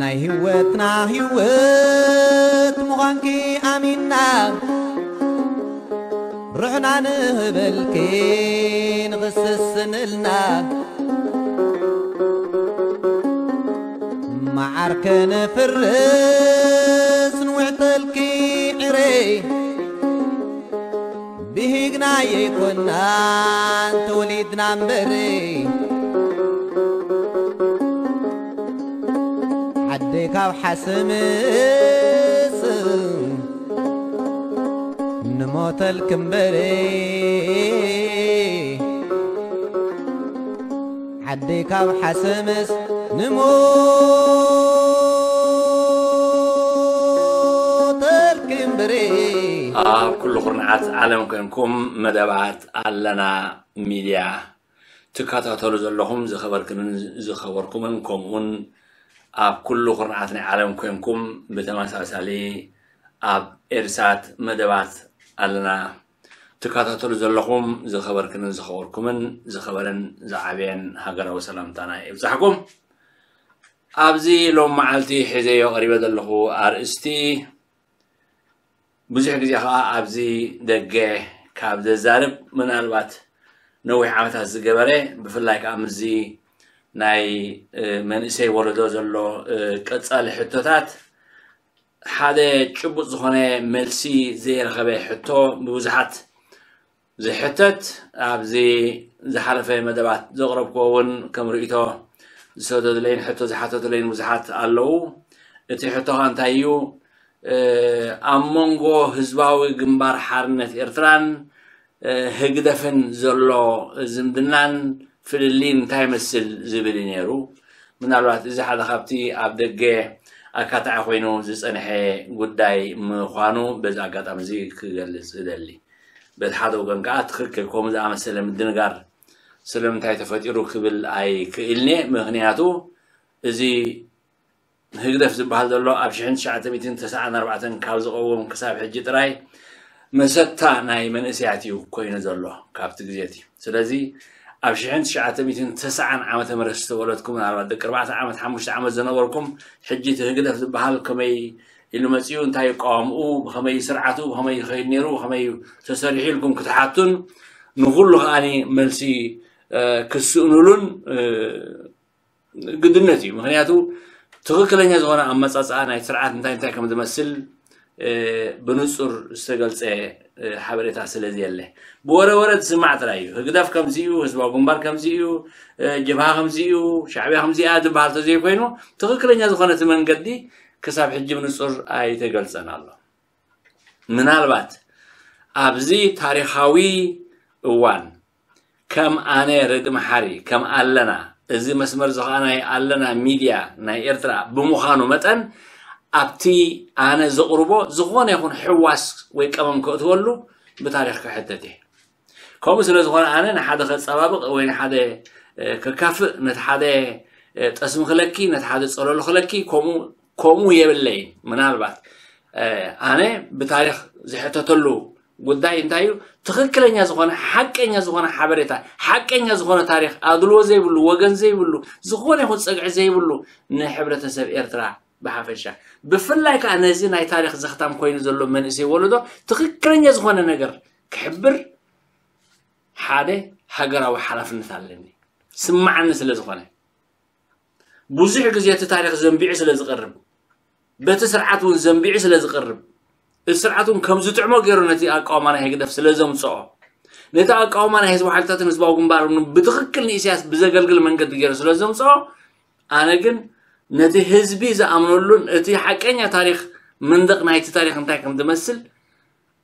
ናይ ህይወትና ህይወት ምዃንኪ ኣሚንና፣ ርሕና ንህበልኪ ንኽስስንልና፣ መዓር ከነፍርስ ንውዕተልኪ ዕረይ። ብሂግና የይኮናን ተወሊድና እምበሪ፣ ዓደይ ካብ ሓሰምስ ንሞተልኪ እምበሪ፣ ዓደይ ካብ ሓሰምስ ንሞተልኪ እምበሪ። ኣብ ኩሉ ኩርናዓት ዓለም ኮንኩም መደባት ኣለና ሚድያ ትከታተሉ ዘለኹም ዝኸበርክንን ዝኸበርኩምን፣ ከምኡውን ኣብ ኩሉ ኩርናዓት ናይ ዓለም ኮንኩም ብተመሳሳሊ ኣብ ኤርሳት መደባት ኣለና ትከታተሉ ዘለኹም ዝኸበርክንን ዝኸበርኩምን፣ ዝኸበረን ዝዓበየን ሃገራዊ ሰላምታና ይብጻሕኩም። ኣብዚ ሎም መዓልቲ ሒዘዮ ቀሪበ ዘለኹ ኣርእስቲ ብዙሕ ግዜ ኸዓ ኣብዚ ደገ ካብ ዘዛርብ፣ ምናልባት ነዊሕ ዓመታት ዝገበረ፣ ብፍላይ ከዓ ምስዚ ናይ፣ እ፣ መንእሰይ ወለዶ ዘሎ፣ እ፣ ቀጻሊ ሕቶታት ሓደ ጭቡጥ ዝኾነ መልሲ ዘይረኸበ ሕቶ፣ ብብዙሓት ዝሕተት፣ ኣብዚ ዝሓለፈ መደባት ዘቕረብክዎ እውን ከም ርእይቶ ዝሰደዱለይን ሕቶ ዝሓተቱለይን ብዙሓት ኣለዉ። እቲ ሕቶ ኸኣ እንታይ እዩ? እ፣ ኣብ መንጎ ህዝባዊ ግንባር ሓርነት ኤርትራን፣ እ፣ ህግደፍን ዘሎ ዝምድናን ፍልልይን እንታይ ይመስል ዝብል እዩ ነይሩ። ምናልባት እዚ ሓደ ካብቲ ኣብ ደገ ኣካታዒ ኮይኑ ዝጸንሐ ጉዳይ ምዃኑ በዚ ኣጋጣሚ እዚ ክገልጽ እደሊ። በቲ ሓደ ወገን ከኣ ትኽክል፣ ከምኡ ዝኣመሰለ ምድንጋር ስለምንታይ ተፈጢሩ ክብል ኣይክእልን'የ። ምኽንያቱ እዚ ህግደፍ ዝበሃል ዘሎ ኣብ ሽሕን ትሽዓተ ሚእትን ተስዓን ኣርባዕተን ካብ ዝቐውም ክሳብ ሕጂ ጥራይ መሰታ ናይ መንእሰያት እዩ ኮይኑ ዘሎ ካብቲ ግዜ እቲ። ስለዚ ኣብ ሽሕን ትሽዓተ ሚእትን ተስዓን ዓመተ ምህረት ዝተወለድኩም፣ ምናልባት ደቂ ኣርባዕተ ዓመት፣ ሓሙሽተ ዓመት ዝነበርኩም፣ ሕጂ እቲ ህግደፍ ዝበሃል ከመይ ኢሉ መጺኡ፣ እንታይ ይቃወምኡ፣ ብኸመይ ስርዓቱ፣ ብኸመይ ይኸይድ ነይሩ፣ ብኸመይ ተሰሪሑ ኢልኩም ክትሓቱን ንኹሉ ከኣኒ መልሲ፣ እ፣ ክትስእኑሉን፣ እ፣ ግድነት እዩ። ምኽንያቱ ትኽክለኛ ዝኾነ ኣመጻጽኣ ናይ ስርዓት እንታይ እንታይ ከም ዝመስል፣ እ፣ ብንጹር ዝተገልጸ፣ እ፣ ሓበሬታ ስለ ዘየለ፣ ብወረ ወረ ዝስማዕ ጥራይ እዩ። ህግደፍ ከምዚ እዩ፣ ህዝባዊ ግንባር ከምዚ እዩ፣ እ፣ ጀብሃ ከምዚ እዩ፣ ሻዕብያ ከምዚ እያ ዝበሃል ተዘይኮይኑ፣ ትኽክለኛ ዝኾነ እቲ መንገዲ ክሳብ ሕጂ ብንጹር ኣይተገልጸን ኣሎ። ምናልባት ኣብዚ ታሪኻዊ እዋን ከም ኣነ ረዲ መሓሪ፣ ከም ኣለና፣ እዚ መስመር እዚ ኸኣ ናይ ኣለና ሚድያ ናይ ኤርትራ ብምዃኑ መጠን፣ ኣብቲ ኣነ ዘቕርቦ ዝኾነ ይኹን ሕዋስ ወይ ቀመም ከእትወሉ ብታሪኽ ክሕተት እየ። ከምኡ ስለ ዝኾነ ኣነ ንሓደ ከጸባብቕ ወይ ንሓደ፣ እ፣ ከካፍእ፣ ነቲ ሓደ፣ እ፣ ጠስሚ ክለኪ፣ ነቲ ሓደ ጸለሎ ክለኪ፣ ከምኡ፣ ከምኡ የብለይን። ምናልባት፣ እ፣ ኣነ ብታሪኽ ዝሕተተሉ ጉዳይ እንታይ እዩ? ትኽክለኛ ዝኾነ፣ ሓቀኛ ዝኾነ ሓበሬታ፣ ሓቀኛ ዝኾነ ታሪኽ፣ ኣድልዎ ዘይብሉ፣ ወገን ዘይብሉ፣ ዝኾነ ይኹን ጸግዒ ዘይብሉ ንሕብረተሰብ ኤርትራ ብሓፈሻ፣ ብፍላይ ከኣ ነዚ ናይ ታሪኽ ዘኽታም ኮይኑ ዘሎ መንእሰይ ወለዶ ትኽክለኛ ዝኾነ ነገር ክሕብር ሓደ ሃገራዊ ሓላፍነት ኣለኒ፣ ስማዓኒ ስለ ዝኾነ። ብዙሕ ግዜ እቲ ታሪኽ ዘንቢዑ ስለ ዝቐርብ፣ በቲ ስርዓት እውን ዘንቢዑ ስለ ዝቐርብ፣ እቲ ስርዓት እውን ከም ዝጥዕሞ ገይሩ ነቲ ኣቃውማ ናይ ህግደፍ ስለ ዘምጽኦ፣ ነቲ ኣቃውማ ናይ ህዝባዊ ሓይልታትን ህዝባዊ ግንባርን ብትኽክል ንኢሳያስ ብዘገልግል መንገዲ ገይሩ ስለ ዘምጽኦ፣ ኣነ ግን ነቲ ህዝቢ ዝኣምነሉን እቲ ሓቀኛ ታሪኽ፣ መንደቕ ናይቲ ታሪኽ እንታይ ከም ዝመስል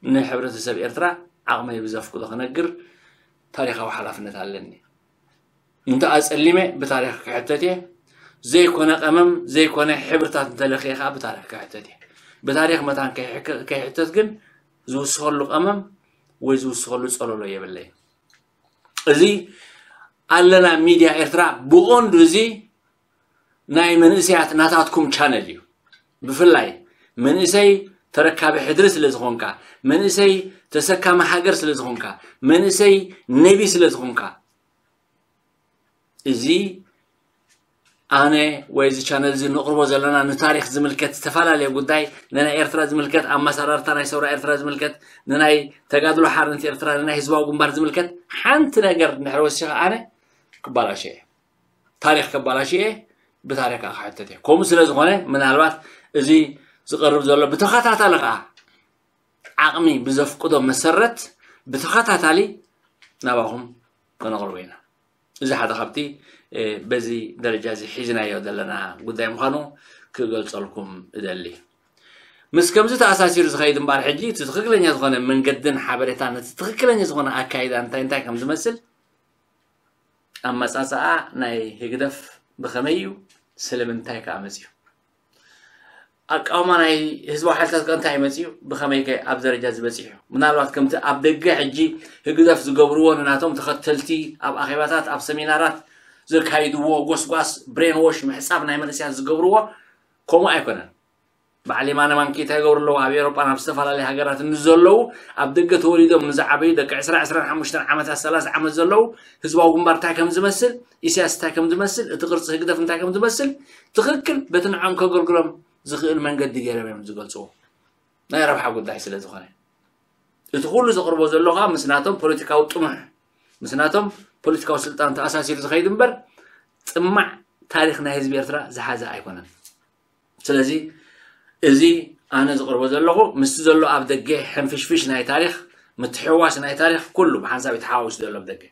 ንሕብረተሰብ ኤርትራ ዓቕመይ ብዘፍቅዶ ክነግር ታሪኻዊ ሓላፍነት ኣለኒ። እንተ ኣጸሊመ ብታሪኽ ክሕተት እየ። ዘይኮነ ቀመም፣ ዘይኮነ ሕብርታት እንተለኽየ ከኣ ብታሪኽ ክሕተት እየ። ብታሪኽ መታን ከይሕከ-፣ ከይሕተት ግን ዝውስኸሉ ቀመም ወይ ዝውስኸሉ ጸለሎ የብለይን። እዚ ኣለና ሚድያ ኤርትራ ብቐንዱ እዚ ናይ መንእሰያት ናታትኩም ቻነል እዩ። ብፍላይ መንእሰይ ተረካቢ ሕድሪ ስለ ዝኾንካ፣ መንእሰይ ተሰካሚ ሃገር ስለ ዝኾንካ፣ መንእሰይ ነቢ ስለ ዝኾንካ፣ እዚ ኣነ ወይ እዚ ቻነል እዚ ንቕርቦ ዘለና ንታሪኽ ዝምልከት ዝተፈላለየ ጉዳይ፣ ንናይ ኤርትራ ዝምልከት፣ ኣመሰራርታ ናይ ሰውራ ኤርትራ ዝምልከት፣ ንናይ ተጋድሎ ሓርነት ኤርትራ፣ ንናይ ህዝባዊ ግንባር ዝምልከት ሓንቲ ነገር እንድሕር ወሲኸ ኣነ ክባላሸ እየ። ታሪኽ ከባላሽ እየ፣ ብታሪኽ ከዓ ክሕተት እየ። ከምኡ ስለ ዝኾነ ምናልባት እዚ ዝቐርብ ዘሎ ብተኸታታሊ ከዓ ዓቕሚ ብዘፍቅዶ መሰረት ብተኸታታሊ ናባኹም ከነቕርቦ ኢና። እዚ ሓደ ካብቲ በዚ ደረጃ እዚ ሒዝናዮ ዘለና ጉዳይ ምዃኑ ክገልጸልኩም እደሊ። ምስ ከምዚ ተኣሳሲሩ ዝኸይድ እምበኣር ሕጂ እቲ ትኽክለኛ ዝኾነ መንገድን ሓበሬታን እቲ ትኽክለኛ ዝኾነ ኣካይዳ እንታይ እንታይ ከም ዝመስል ኣመጻጽኣ ናይ ህግደፍ ብኸመይ እዩ? ስለምንታይ ከኣ መጺኡ? ኣቃውማ ናይ ህዝባዊ ሓይልታት ከ እንታይ መጺኡ? ብኸመይ ከ ኣብ ደረጃ ዝበጺሑ? ምናልባት ከምቲ ኣብ ደገ ሕጂ ህግደፍ ዝገብርዎ ንናቶም ተኸተልቲ ኣብ ኣኼባታት፣ ኣብ ሰሚናራት ዘካይድዎ ጎስጓስ፣ ብሬን ዎሽ፣ ምሕጻብ ናይ መንእሰያት ዝገብርዎ ከምኡ ኣይኮነን። በዓል የማነ ማንኪ እንታይ ይገብሩ ኣለዉ? ኣብ ኤውሮጳን ኣብ ዝተፈላለያ ሃገራትን ንዘለዉ ኣብ ደገ ተወሊዶም ንዝዓበዩ ደቂ ዕስራ ዕስራን ሓሙሽተን ዓመታት ሰላሳ ዓመት ዘለዉ ህዝባዊ ግንባር እንታይ ከም ዝመስል፣ ኢሳያስ እንታይ ከም ዝመስል፣ እቲ ቅርጺ ህግደፍ እንታይ ከም ዝመስል ትኽክል በቲ ንዖም ከገልግሎም ዝኽእል መንገዲ ገይሮም እዮም ዝገልጽዎ። ናይ ረብሓ ጉዳይ ስለ ዝኾነ እቲ ኩሉ ዘቕርቦ ዘሎ ከዓ ምስ ናቶም ፖለቲካዊ ጥሙሕ ምስ ናቶም ፖለቲካዊ ስልጣን ተኣሳሲሩ ዝኸይድ እምበር ጽማዕ ታሪኽ ናይ ህዝቢ ኤርትራ ዝሓዘ ኣይኮነን። ስለዚ እዚ ኣነ ዝቕርቦ ዘለኹ ምስቲ ዘሎ ኣብ ደገ ሕንፍሽፍሽ ናይ ታሪኽ ምትሕዋስ ናይ ታሪኽ ኩሉ ብሓንሳብ እዩ ተሓዋዊሱ ዘሎ ኣብ ደገ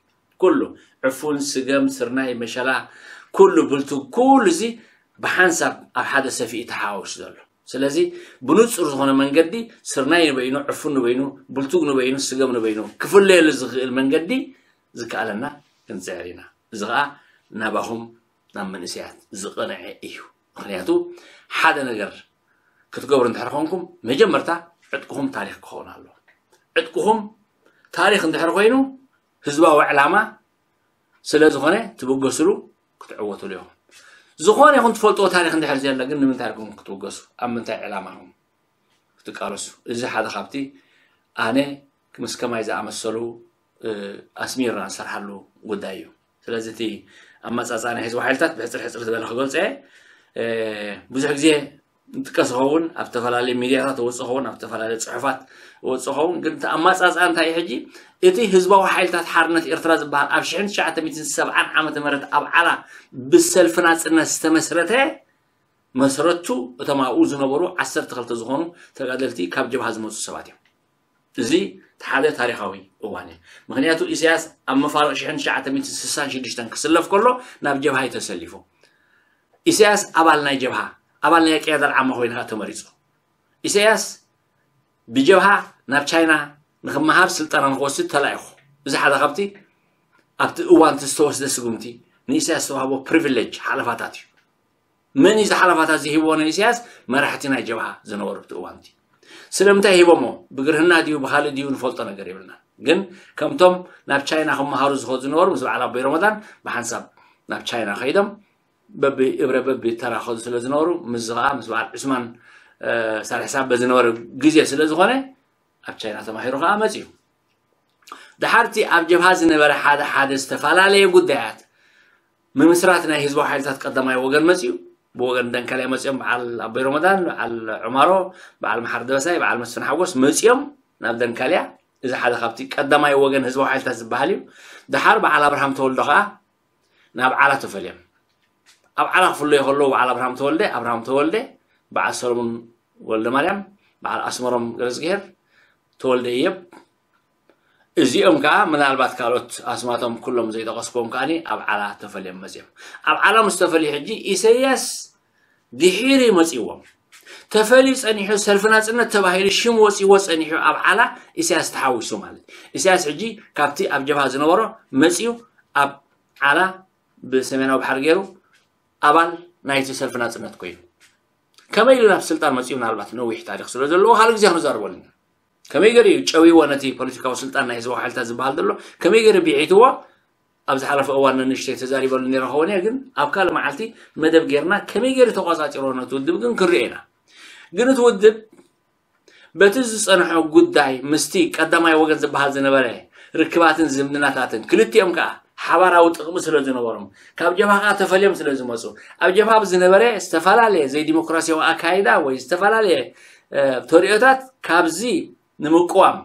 ኩሉ ዕፉን ስገም ስርናይ መሸላ ኩሉ ብልቱ ኩሉ እዚ ብሓንሳብ ኣብ ሓደ ሰፊ እዩ ተሓዋዊሱ ዘሎ። ስለዚ ብንጹር ዝኾነ መንገዲ ስርናይ ንበይኑ ዕፉን ንበይኑ ብልቱግ ንበይኑ ስገም ንበይኑ ክፍለየሉ ዝኽእል መንገዲ ዝከኣለና ክንጽዕር ኢና። እዚ ኸኣ ናባኹም ናብ መንእሰያት ዝቐንዐ እዩ። ምኽንያቱ ሓደ ነገር ክትገብሩ እንድሕር ኮንኩም መጀመርታ ዕጥቅኹም ታሪኽ ክኸውን ኣለዎ። ዕጥቅኹም ታሪኽ እንድሕር ኮይኑ ህዝባዊ ዕላማ ስለ ዝኾነ ትብገስሉ ክትዕወትሉ ኢኹም። ዝኾነ ይኹን ትፈልጥዎ ታሪኽ እንድሕር ዘየለ ግን ንምንታይ ኢኹም ክትብገሱ? ኣብ ምንታይ ዕላማ ኢኹም ክትቃለሱ? እዚ ሓደ ካብቲ ኣነ ምስ ከማይ ዝኣመሰሉ ኣስሚርና ንሰርሓሉ ጉዳይ እዩ። ስለዚ እቲ ኣመፃፅኣ ናይ ህዝቢ ሓይልታት ብሕፅር ሕፅር ዝበለ ክገልፀ ብዙሕ ግዜ ንጥቀስ ኸውን ኣብ ዝተፈላለዩ ሚዲያታት ወፅ ኸውን ኣብ ዝተፈላለዩ ፅሑፋት ወፅ ኸውን ግን እቲ ኣማፃፅኣ እንታይ ሕጂ እቲ ህዝባዊ ሓይልታት ሓርነት ኤርትራ ዝበሃል ኣብ ሽሕን ትሽዓተ ሚእትን ሰብዓን ዓመተ ምህረት ኣብ ዓላ ብሰልፊ ናፅነት ዝተመስረተ መስረቱ እቶም ኣብኡ ዝነበሩ ዓሰርተ ክልተ ዝኾኑ ተጋደልቲ ካብ ጀብሃ ዝመፁ ሰባት እዮም። እዚ ሓደ ታሪኻዊ እዋን እዩ። ምክንያቱ ኢሳያስ ኣብ መፋርቕ ሽሕን ትሽዓተ ሚእትን ስሳን ሽዱሽተን ክስለፍ ከሎ ናብ ጀብሃ እዩ ተሰሊፉ። ኢሳያስ ኣባል ናይ ጀብሃ ኣባል ናይ ቅያዳ ዓማ ኮይኑ ተመሪፁ። ኢሳያስ ብጀብሃ ናብ ቻይና ንክመሃር ስልጠና ንክወስድ ተላኢኹ። እዚ ሓደ ካብቲ ኣብቲ እዋን ዝተወስደ ስጉምቲ ንኢሳያስ ዝተዋህቦ ፕሪቪሌጅ ሓለፋታት እዩ። መን እዩ ዝሓለፋታት ዝሂብዎ ንኢሳያስ? መራሕቲ ናይ ጀብሃ ዝነበሩ ኣብቲ እዋንቲ። ስለምንታይ ሂቦሞ? ብግርህና ድዩ ብካልእ ድዩ ንፈልጦ ነገር የብልና። ግን ከምቶም ናብ ቻይና ክመሃሩ ዝኸዱ ዝነበሩ ምስ በዓል ኣቦይ ረመዳን ብሓንሳብ ናብ ቻይና ከይዶም በቢ እብረ በቢ ተራ ከዱ ስለ ዝነበሩ ምስዚ ከዓ ምስ በዓል ዑስማን ሳልሕ ሳበ ዝነበረ ግዜ ስለ ዝኾነ ኣብ ቻይና ተማሂሩ ከዓ መፅዩ። ድሓርቲ ኣብ ጀብሃ ዝነበረ ሓደ ሓደ ዝተፈላለየ ጉዳያት ምምስራት ናይ ህዝባዊ ሓይልታት ቀዳማይ ወገን መፅዩ። ብወገን ደንካልያ መፅኦም በዓል ኣቦይ ረመዳን በዓል ዑማሮ በዓል መሓር ደበሳይ በዓል መስፍን ሓጎስ መፅኦም ናብ ደንካልያ። እዚ ሓደ ካብቲ ቀዳማይ ወገን ህዝባዊ ሓይልታት ዝበሃል እዩ። ድሓር በዓል ኣብርሃም ተወልዶ ከዓ ናብ ዓላ ተፈልዮም። ኣብ ዓላ ክፍለዩ ከለዉ በዓል ኣብርሃም ተወልደ ኣብርሃም ተወልደ በዓል ሰለሙን ወልደ ማርያም በዓል ኣስመሮም ገረዝግሄር ተወልደ እየብ እዚኦም ከዓ ምናልባት ካልኦት ኣስማቶም ኩሎም ዘይጠቐስክዎም ከዓ ኣብ ዓላ ተፈልዮም መፅኦም። ኣብ ዓላ ምስ ተፈልዩ ሕጂ ኢሰያስ ድሒሩ መፅዎም። ተፈልዩ ፀኒሑ ሰልፊ ናፅነት ተባሂሉ ሽም ወፂዎ ፀኒሑ ኣብ ዓላ ኢሳያስ ተሓዊሱ ማለት ኢሳያስ ሕጂ ካብቲ ኣብ ጀብሃ ዝነበሮ መፅዩ ኣብ ዓላ ብሰሜናዊ ባሕሪ ገይሩ ኣባል ናይቲ ሰልፊ ናፅነት ኮይኑ ከመይ ኢሉ ናብ ስልጣን መፅኡ ምናልባት ነዊሕ ታሪክ ስለ ዘለዎ ካልእ ግዜ ክንዛርበሉ ኢና። ከመይ ገይሩ እዩ ጨዊዎ ነቲ ፖለቲካዊ ስልጣን ናይ ህዝባዊ ሓይልታት ዝበሃል ዘሎ ከመይ ገይሩ ቢዒትዎ ኣብ ዝሓለፈ እዋን ንንሽተይ ተዛሪበሉ ነይረ ክኸውን እየ ግን ኣብ ካልእ መዓልቲ መደብ ገይርና ከመይ ገይሩ ተቋፃፂሮ ነቲ ውድብ ግን ክንሪኦ ኢና። ግን እቲ ውድብ በቲ ዝጸንሖ ጉዳይ ምስቲ ቀዳማይ ወገን ዝበሃል ዝነበረ ርክባትን ዝምድናታትን ክልቲኦም ከኣ ሓባራዊ ጥቕሚ ስለ ዝነበሮም ካብ ጀብሃ ከኣ ተፈልዮም ስለ ዝመጹ ኣብ ጀብሃ ብዝነበረ ዝተፈላለየ ዘይዲሞክራሲያዊ ኣካይዳ ወይ ዝተፈላለየ ተርእዮታት ካብዚ ንምቅዋም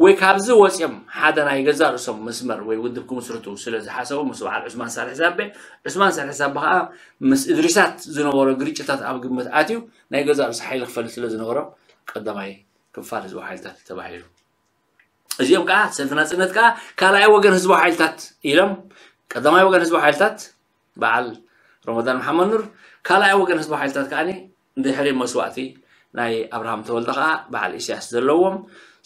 ወይ ካብዚ ወፂኦም ሓደ ናይ ገዛ ርእሶም መስመር ወይ ውድብ ክምስርቱ ስለ ዝሓሰቡ ምስ በዓል ዑስማን ሳልሕ ሳቤ ዑስማን ሳልሕ ሳቤ ከዓ ምስ እድሪሳት ዝነበሮ ግርጭታት ኣብ ግምት ኣትዩ ናይ ገዛ ርእሱ ሓይሊ ክፈል ስለ ዝነበሮ ቀዳማይ ክፋል ህዝባዊ ሓይልታት ተባሂሉ። እዚኦም ከዓ ሰልፊ ናፅነት ከዓ ካልኣይ ወገን ህዝባዊ ሓይልታት ኢሎም ቀዳማይ ወገን ህዝባዊ ሓይልታት በዓል ረመዳን መሓመድ ኑር ካልኣይ ወገን ህዝባዊ ሓይልታት ከዓ ድሕሪ መስዋእቲ ናይ ኣብርሃም ተወልደ ከዓ በዓል ኢሳያስ ዘለዎም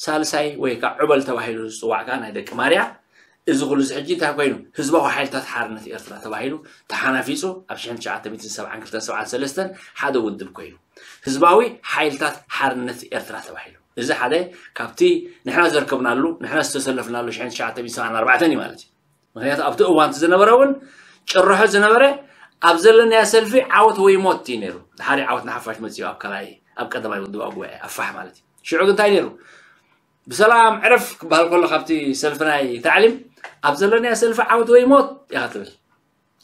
ሳልሳይ ወይ ከዓ ዑበል ተባሂሉ ዝፅዋዕ ከዓ ናይ ደቂ ማርያ እዚ ኩሉ እዚ ሕጂ እንታይ ኮይኑ ህዝባዊ ሓይልታት ሓርነት ኤርትራ ተባሂሉ ተሓናፊፁ ኣብ ሽሕን ትሽዓተ ሚእትን ሰብዓን ክልተን ሰብዓን ሰለስተን ሓደ ውድብ ኮይኑ ህዝባዊ ሓይልታት ሓርነት ኤርትራ ተባሂሉ እዚ ሓደ ካብቲ ንሕና ዘርከብናሉ ንሕና ዝተሰለፍናሉ ሽሕን ትሽዓተ ሚእትን ሰብዓን ኣርባዕተን እዩ ማለት እዩ። ምክንያቱ ኣብቲ እዋንቲ ዝነበረ እውን ጭርሖ ዝነበረ ኣብ ዘለናያ ሰልፊ ዓወት ወይ ሞት እዩ ነይሩ። ድሓሪ ዓወት ንሓፋሽ መፅኡ ኣብ ካልኣይ ኣብ ቀዳማይ ውድባዊ ጉባኤ ኣፋሕ ማለት እዩ። ሽዑ ግን እንታይ ነይሩ? ብሰላም ዕረፍ ክበሃል ከሎ ካብቲ ሰልፊ ናይ ታዕሊም ኣብ ዘለናያ ሰልፊ ዓወት ወይ ሞት ኢኻ ትብል።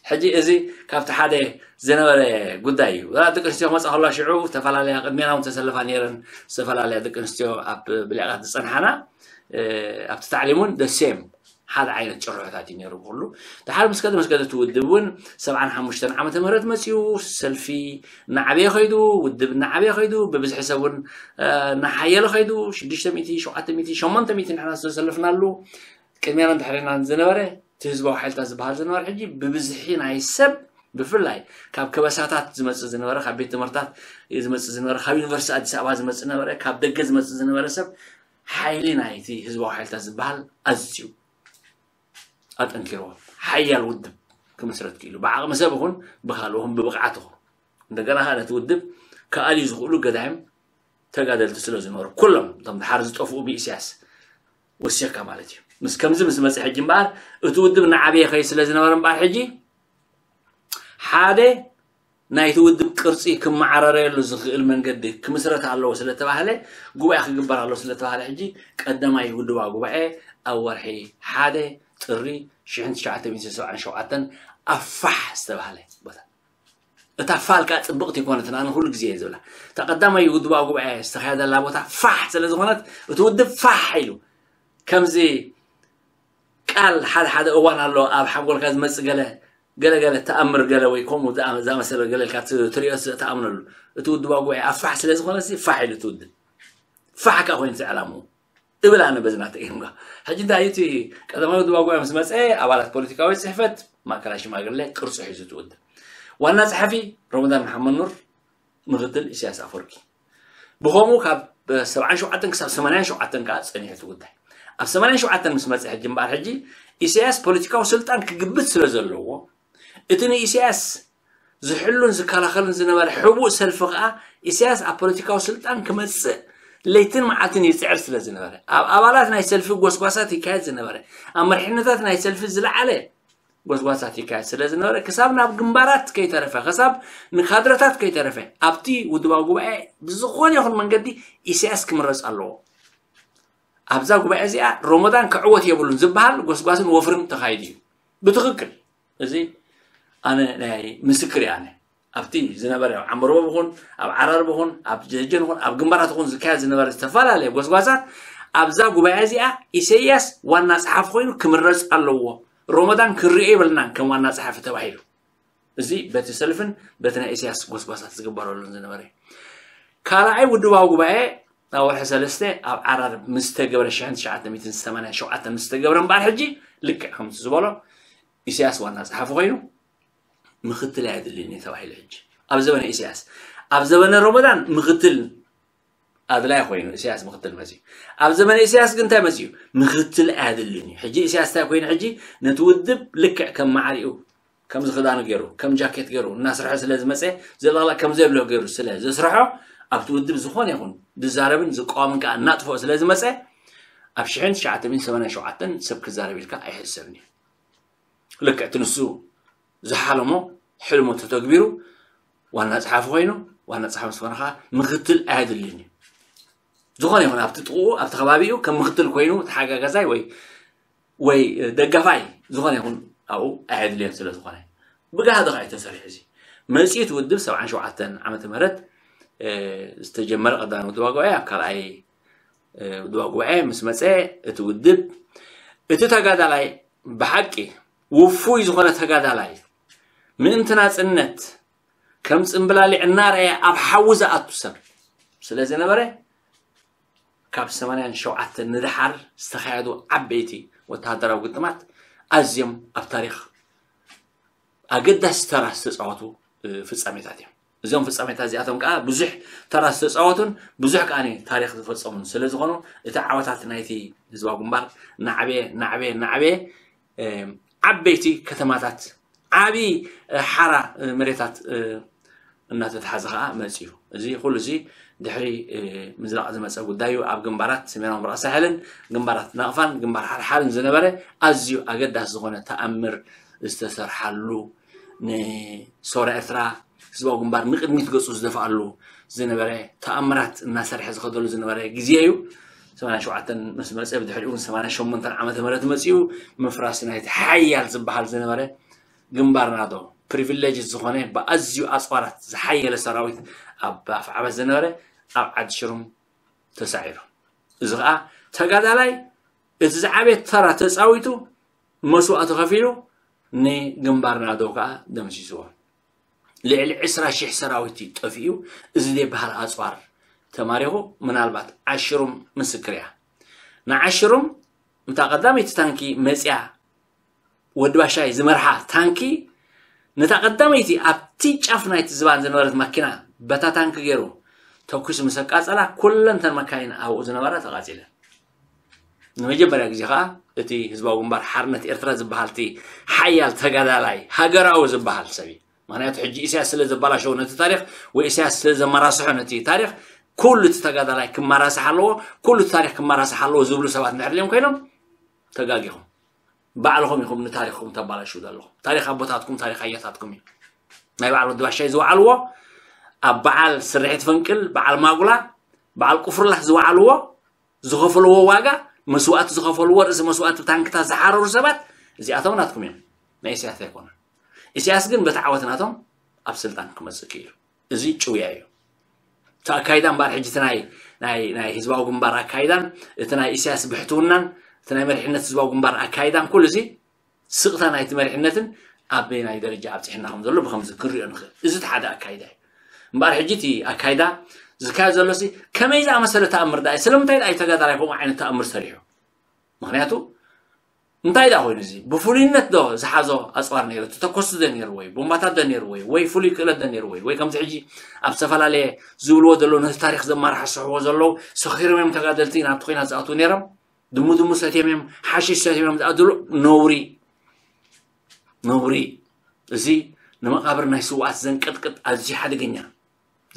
ሕጂ እዚ ካብቲ ሓደ ዝነበረ ጉዳይ እዩ። ደቂ ኣንስትዮ ክመፃ ከለዋ ሽዑ ዝተፈላለያ ቅድሜና እውን ተሰለፋ ነይረን ዝተፈላለያ ደቂ ኣንስትዮ ኣብ ብሊቃት ዝፀንሓና ኣብቲ ታዕሊም እውን ደሴም ሓደ ዓይነት ጭርሖታት እዩ ነይሩ ብኩሉ። ድሓር ምስ ከደ ምስ ከደ ትውድብ እውን ሰብዓን ሓሙሽተን ዓመተ ምህረት መፅኡ ሰልፊ እናዓበየ ከይዱ ውድብ እናዓበየ ከይዱ ብብዝሒ ሰብ እውን እናሓየለ ከይዱ ሽዱሽተ ሚእቲ ሸውዓተ ሚእቲ ሸሞንተ ሚእቲ ንሕና ዝተሰለፍናሉ ቅድሜናን ድሕሬናን ዝነበረ እቲ ህዝባዊ ሓይልታት ዝበሃል ዝነበረ ሕጂ ብብዝሒ ናይ ሰብ ብፍላይ ካብ ከበሳታት ዝመፅእ ዝነበረ ካብ ቤት ትምህርታት ዝመፅእ ዝነበረ ካብ ዩኒቨርሲቲ ኣዲስ ኣበባ ዝመፅእ ነበረ ካብ ደገ ዝመፅእ ዝነበረ ሰብ ሓይሊ ናይቲ ህዝባዊ ሓይልታት ዝበሃል ኣዝዩ ኣጠንኪርዎ ሓያል ውድብ ክምስረት ክኢሉ ብዓቕሚ ሰብ ይኹን ብካልእ ይኹን ብብቕዓት ይኹን እንደገና ከዓ ነቲ ውድብ ክኣልዩ ዝኽእሉ ገዳይም ተጋደልቲ ስለ ዝነበሩ ኩሎም እቶም ድሓር ዝጠፍኡ ብኢሳያስ ወሲኽካ ማለት እዩ። ምስ ከምዚ ምስ መፀ ሕጂ እምበኣር እቲ ውድብ እናዓበየ ከይድ ስለ ዝነበረ እምበኣር ሕጂ ሓደ ናይቲ ውድብ ቅርፂ ክመዓራረየሉ ዝኽእል መንገዲ ክምስረት ኣለዎ ስለተባህለ ጉባኤ ክግበር ኣለዎ ስለተባህለ ሕጂ ቀዳማይ ውድባዊ ጉባኤ ኣብ ወርሒ ሓደ ጥሪ ሽሕን ትሽዓተ ሚእትን ሰብዓን ሸውዓተን ኣብ ፋሕ ዝተባህለ ቦታ እታ ፋል ከዓ ፅብቕቲ ይኮነትን ኣነ ኩሉ ግዜ እየ ዝብላ እታ ቀዳማይ ውድባዊ ጉባኤ ዝተካየደላ ቦታ ፋሕ ስለ ዝኾነት እቲ ውድብ ፋሕ ኢሉ ከምዚ ቃል ሓደ ሓደ እዋን ኣሎ ኣብ ሓንጎልካ ዝመፅእ ገለ ገለገለ ተኣምር ገለ ወይ ከምኡ ዝኣመሰለ ገለ ኢልካ ትሪኦ ተኣምነሉ እቲ ውድባዊ ጉባኤ ኣብ ፋሕ ስለ ዝኾነ ፋሕ ኢሉ እቲ ውድብ ፋሕ ከዓ ኮይኑ ዕላምኡ እብል ኣነ በዚ ናተይ እምጋ ሕጂ እንታይ እቲ ቀዳማዊ ውድባዊ ጉባኤ ምስ መፀ ኣባላት ፖለቲካዊ ፅሕፈት ማእከላይ ሽማግለ ቅርፂ ሒዙ እቲ ውድብ ዋና ፀሓፊ ረመዳን መሓመድ ኑር ምክትል ኢሳያስ ኣፈወርቂ ብኸምኡ ካብ ሰብዓን ሸውዓተን ክሳብ ሰማንያን ሸውዓተን ከዓ ፀኒሑ እቲ ጉዳይ ኣብ ሰማንያን ሸውዓተን ምስ መፀ ሕጂ እምበኣር ሕጂ ኢሳያስ ፖለቲካዊ ስልጣን ክግብት ስለ ዘለዎ እቲ ንኢሳያስ ዝሕሉን ዝከላኸልን ዝነበረ ሕቡእ ሰልፊ ከዓ ኢሳያስ ኣብ ፖለቲካዊ ስልጣን ክመፅእ ለይትን መዓልትን ይፅዕር ስለ ዝነበረ ኣብ ኣባላት ናይ ሰልፊ ጎስጓሳት ይካየድ ዝነበረ ኣብ መርሒነታት ናይ ሰልፊ ዝለዓለ ጎስጓሳት ይካየድ ስለ ዝነበረ ክሳብ ናብ ግንባራት ከይተረፈ ክሳብ ንካድረታት ከይተረፈ ኣብቲ ውድባዊ ጉባኤ ብዝኾነ ይኹን መንገዲ ኢሳያስ ክምረፅ ኣለዎ ኣብዛ ጉባኤ እዚኣ ሮሞዳን ክዕወት የብሉን ዝበሃል ጎስጓስን ወፍርን ተኻይዱ እዩ ብትኽክል እዚ ኣነ ናይ ምስክር እየ ኣነ ኣብቲ ዝነበረ ኣብ ዓምበርቦ ብኹን ኣብ ዓራርብ ኹን ኣብ ጀጀን ኹን ኣብ ግንባራት ኹን ዝካየድ ዝነበረ ዝተፈላለየ ጎስጓሳት ኣብዛ ጉባኤ እዚኣ ኢሰያስ ዋና ጸሓፊ ኮይኑ ክምረጽ ኣለዎ ሮሞዳን ክርእዮ የብልናን ከም ዋና ጸሓፊ ተባሂሉ እዚ በቲ ሰልፍን በቲ ናይ ኢሰያስ ጎስጓሳት ዝግበረሉን ዝነበረ ካልኣይ ውድባዊ ጉባኤ ኣብ ወርሒ ሰለስተ ኣብ ዓራርብ ምስ ተገብረ ሽሕን ትሽዓተ ሚእትን ሰማንያን ሸውዓተን ምስ ተገብረ እምበኣር ሕጂ ልክዕ ከምቲ ዝበሎ ኢሳያስ ዋና ጸሓፊ ኮይኑ ምክትል ኣየድልይን እዩ ተባሂሉ ሕጂ ኣብ ዘበነ ኢሳያስ ኣብ ዘበነ ሮመዳን ምክትል ኣድላይ ኮይኑ ኢሳያስ ምክትል መፅዩ ኣብ ዘበነ ኢሳያስ ግን እንታይ መፅዩ ምክትል ኣየድልን እዩ ሕጂ ኢሳያስ እንታይ ኮይኑ ሕጂ ነቲ ውድብ ልክዕ ከም ማዕሪኡ ከምዚ ክዳኑ ገይሩ ከም ጃኬት ገይሩ እናስርሐ ስለ ዝመፀ ዘለቕላቕ ከም ዘየብሎ ገይሩ ስለ ዘስርሖ ኣብቲ ውድብ ዝኾነ ይኹን ዝዛረብን ዝቃወምን ከዓ እናጥፍኦ ስለ ዝመፀ ኣብ ሽሕን ትሽዓተ ሚእትን ሰማንያን ሸውዓተን ሰብ ክዛረብ ኢልካ ኣይሕሰብን እዩ ልክዕ እቲ ንሱ ዝሓለሞ ሕልሙ ተተግቢሩ ዋና ፀሓፊ ኮይኑ ዋና ጸሓፊ ምስ ኮነ ከዓ ምኽትል ኣየድልይን እዩ። ዝኾነ ይኹን ኣብቲ ጥቕኡ ኣብቲ ከባቢኡ ከም ምኽትል ኮይኑ ተሓጋጋዛይ ወይ ወይ ደጋፋይ ዝኾነ ይኹን ኣብኡ ኣየድልዮን ስለ ዝኾነ ብጋህዲ ከዓ እዩ ተሰሪሑ። እዚ መፅኡ እቲ ውድብ ሰብዓን ሸውዓተን ዓመተ ምህረት ዝተጀመረ ቀዳማይ ውድባ ጉባኤ ኣብ ካልኣይ ውድባ ጉባኤ ምስ መፀ እቲ ውድብ እቲ ተጋዳላይ ብሓቂ ውፉይ ዝኾነ ተጋዳላይ ምእንቲ ናፅነት ከም ፅምብላሊዕ እናረኣየ ኣብ ሓዊ ዝኣቱ ሰብ ስለ ዝነበረ ካብ ሰማንያን ሸውዓተን ንደሓር ዝተኻየዱ ዓበይቲ ወተሃደራዊ ግጥማት ኣዝዮም ኣብ ታሪኽ ኣገዳሲ ተራ ዝተፃወቱ ፍፃሜታት እዮም። እዞም ፍፃሜታት እዚኣቶም ከዓ ብዙሕ ተራ ዝተፃወቱን ብዙሕ ከዓ ታሪኽ ዝፈፀሙን ስለ ዝኾኑ እቲ ዓወታት ናይቲ ህዝባዊ ግንባር ናዕበየ ናዕበየ ናዕበየ ዓበይቲ ከተማታት ዓብዪ ሓራ መሬታት እናተተሓዘ ከዓ መፅዩ። እዚ ኩሉ እዚ ድሕሪ ምዝራቕ ዝመፀ ጉዳይ እዩ። ኣብ ግንባራት ሰሜናዊ ምብራቕ ሳሕልን ግንባራት ናቕፋን ግንባር ሓርሓርን ዝነበረ ኣዝዩ ኣገዳሲ ዝኾነ ተኣምር ዝተሰርሓሉ ንሶራ ኤርትራ ህዝባዊ ግንባር ንቅድሚት ገፁ ዝደፍኣሉ ዝነበረ ተኣምራት እናሰርሐ ዝኸደሉ ዝነበረ ግዜ እዩ። ሰማንያ ሸውዓተን ምስ መፀ ብድሕሪኡ እውን ሰማንያ ሸሞንተን ዓመተ ምህረት መፅኡ ምፍራስ ናይቲ ሓያል ዝበሃል ዝነበረ ግንባር ናዶ ፕሪቪሌጅ ዝኾነ ብኣዝዩ ኣፅዋራት ዝሓየለ ሰራዊት ኣብ ኣፍዓበት ዝነበረ ኣብ ዓዲ ሽሩም ተሳዒሩ። እዚ ከዓ ተጋዳላይ እቲ ዝዓበየ ተራ ተፃዊቱ መስዋእቲ ከፊሉ ንግንባር ናዶ ከዓ ደምሲስዎ። ልዕሊ ዕስራ ሺሕ ሰራዊት እዩ ጠፊኡ። እዚ ዘይበሃል ኣፅዋር ተማሪኹ ምናልባት ዓሽሩም ምስክር እያ። ንዓሽሩም እታ ቀዳመይቲ ታንኪ መፅያ ወዲ ባሻይ ዝመርሓ ታንኪ ነታ ቀዳመይቲ ኣብቲ ጫፍ ናይቲ ዝባን ዝነበረት ማኪና በታ ታንኪ ገይሩ ተኩሱ ምስ ኣቃፀላ ኩለን ተን መካይን ኣብኡ ዝነበራ ተቃፂለን። ንመጀመርያ ግዜ ከዓ እቲ ህዝባዊ ግንባር ሓርነት ኤርትራ ዝበሃል እቲ ሓያል ተጋዳላይ ሃገራዊ ዝበሃል ሰብ እዩ። ምክንያቱ ሕጂ ኢሳያስ ስለ ዘባላሸዎ ነቲ ታሪክ ወይ ኢሳያስ ስለ ዘመራስሖ ነቲ ታሪክ ኩሉ እቲ ተጋዳላይ ክመራስሕ ኣለዎ። ኩሉ እቲ ታሪክ ክመራስሕ ኣለዎ ዝብሉ ሰባት እንድሕር ድዮም ኮይኖም ተጋጊኹም። ባዕልኹም ኢኹም ንታሪኽኩም ተባላሽው ዘለኹም። ታሪኽ ኣቦታትኩም ታሪኽ ኣያታትኩም እዩ። ናይ በዓል ወዲ ባሻይ ዝወዓልዎ ኣብ በዓል ስርሒት ፈንቅል በዓል ማጉላ በዓል ቁፍርላህ ዝወዓልዎ ዝኸፈልዎ ዋጋ መስዋእቲ ዝኸፈልዎ ርእሲ መስዋእቲ ታንክታት ዝሓረሩ ሰባት እዚኣቶም ናትኩም እዮም። ናይ ኢሳያስ ኣይኮነን። ኢሳያስ ግን በቲ ዓወት ናቶም ኣብ ስልጣን ክመፅእ ክኢሉ። እዚ ጭውያ እዩ። እቲ ኣካይዳ እምበኣር ሕጂ እቲ ናይ ናይ ናይ ህዝባዊ ግንባር ኣካይዳን እቲ ናይ ኢሳያስ ብሕትውናን እቲ ናይ መሪሕነት ህዝባዊ ግንባር ኣካይዳን ኩሉ እዚ ስቕታ ናይቲ መሪሕነትን ኣበየናይ ደረጃ ኣብፅሕና ከም ዘሎ ብከምዚ ክንሪኦ ንኽእል። እዚ እቲ ሓደ ኣካይዳ እዩ። እምበኣር ሕጂ እቲ ኣካይዳ ዝካየድ ዘሎ ሲ ከመይ ዝኣመሰለ ተኣምር ዳ እዩ? ስለምንታይ ዳ እዩ ተጋዳላይ ከምኡ ዓይነት ተኣምር ሰሪሑ? ምክንያቱ እንታይ ዳ ኮይኑ እዚ ብፍሉይነት ዶ ዝሓዞ ኣፅዋር ነይሩ? ተተኮስቲ ዶ ነይሩ ወይ ቦምባታት ዶ ነይሩ ወይ ወይ ፍሉይ ክእለት ዶ ነይሩ ወይ ወይ ከምዚ ሕጂ ኣብ ዝተፈላለየ ዝብልዎ ዘለዉ ነቲ ታሪክ ዘመራሕስሕዎ ዘለዉ ሰኺሮም እዮም ተጋደልቲ ናብቲ ኮይናት ዝኣትዉ ነይሮም ድሙ ድሙ ሰትዮም እዮም ሓሽሽ ሰትዮም እዮም ዝኣትሉ ነውሪ ነውሪ እዚ ንመቃብር ናይ ስውኣት ዘንቀጥቅጥ ኣዝዩ ሓደገኛ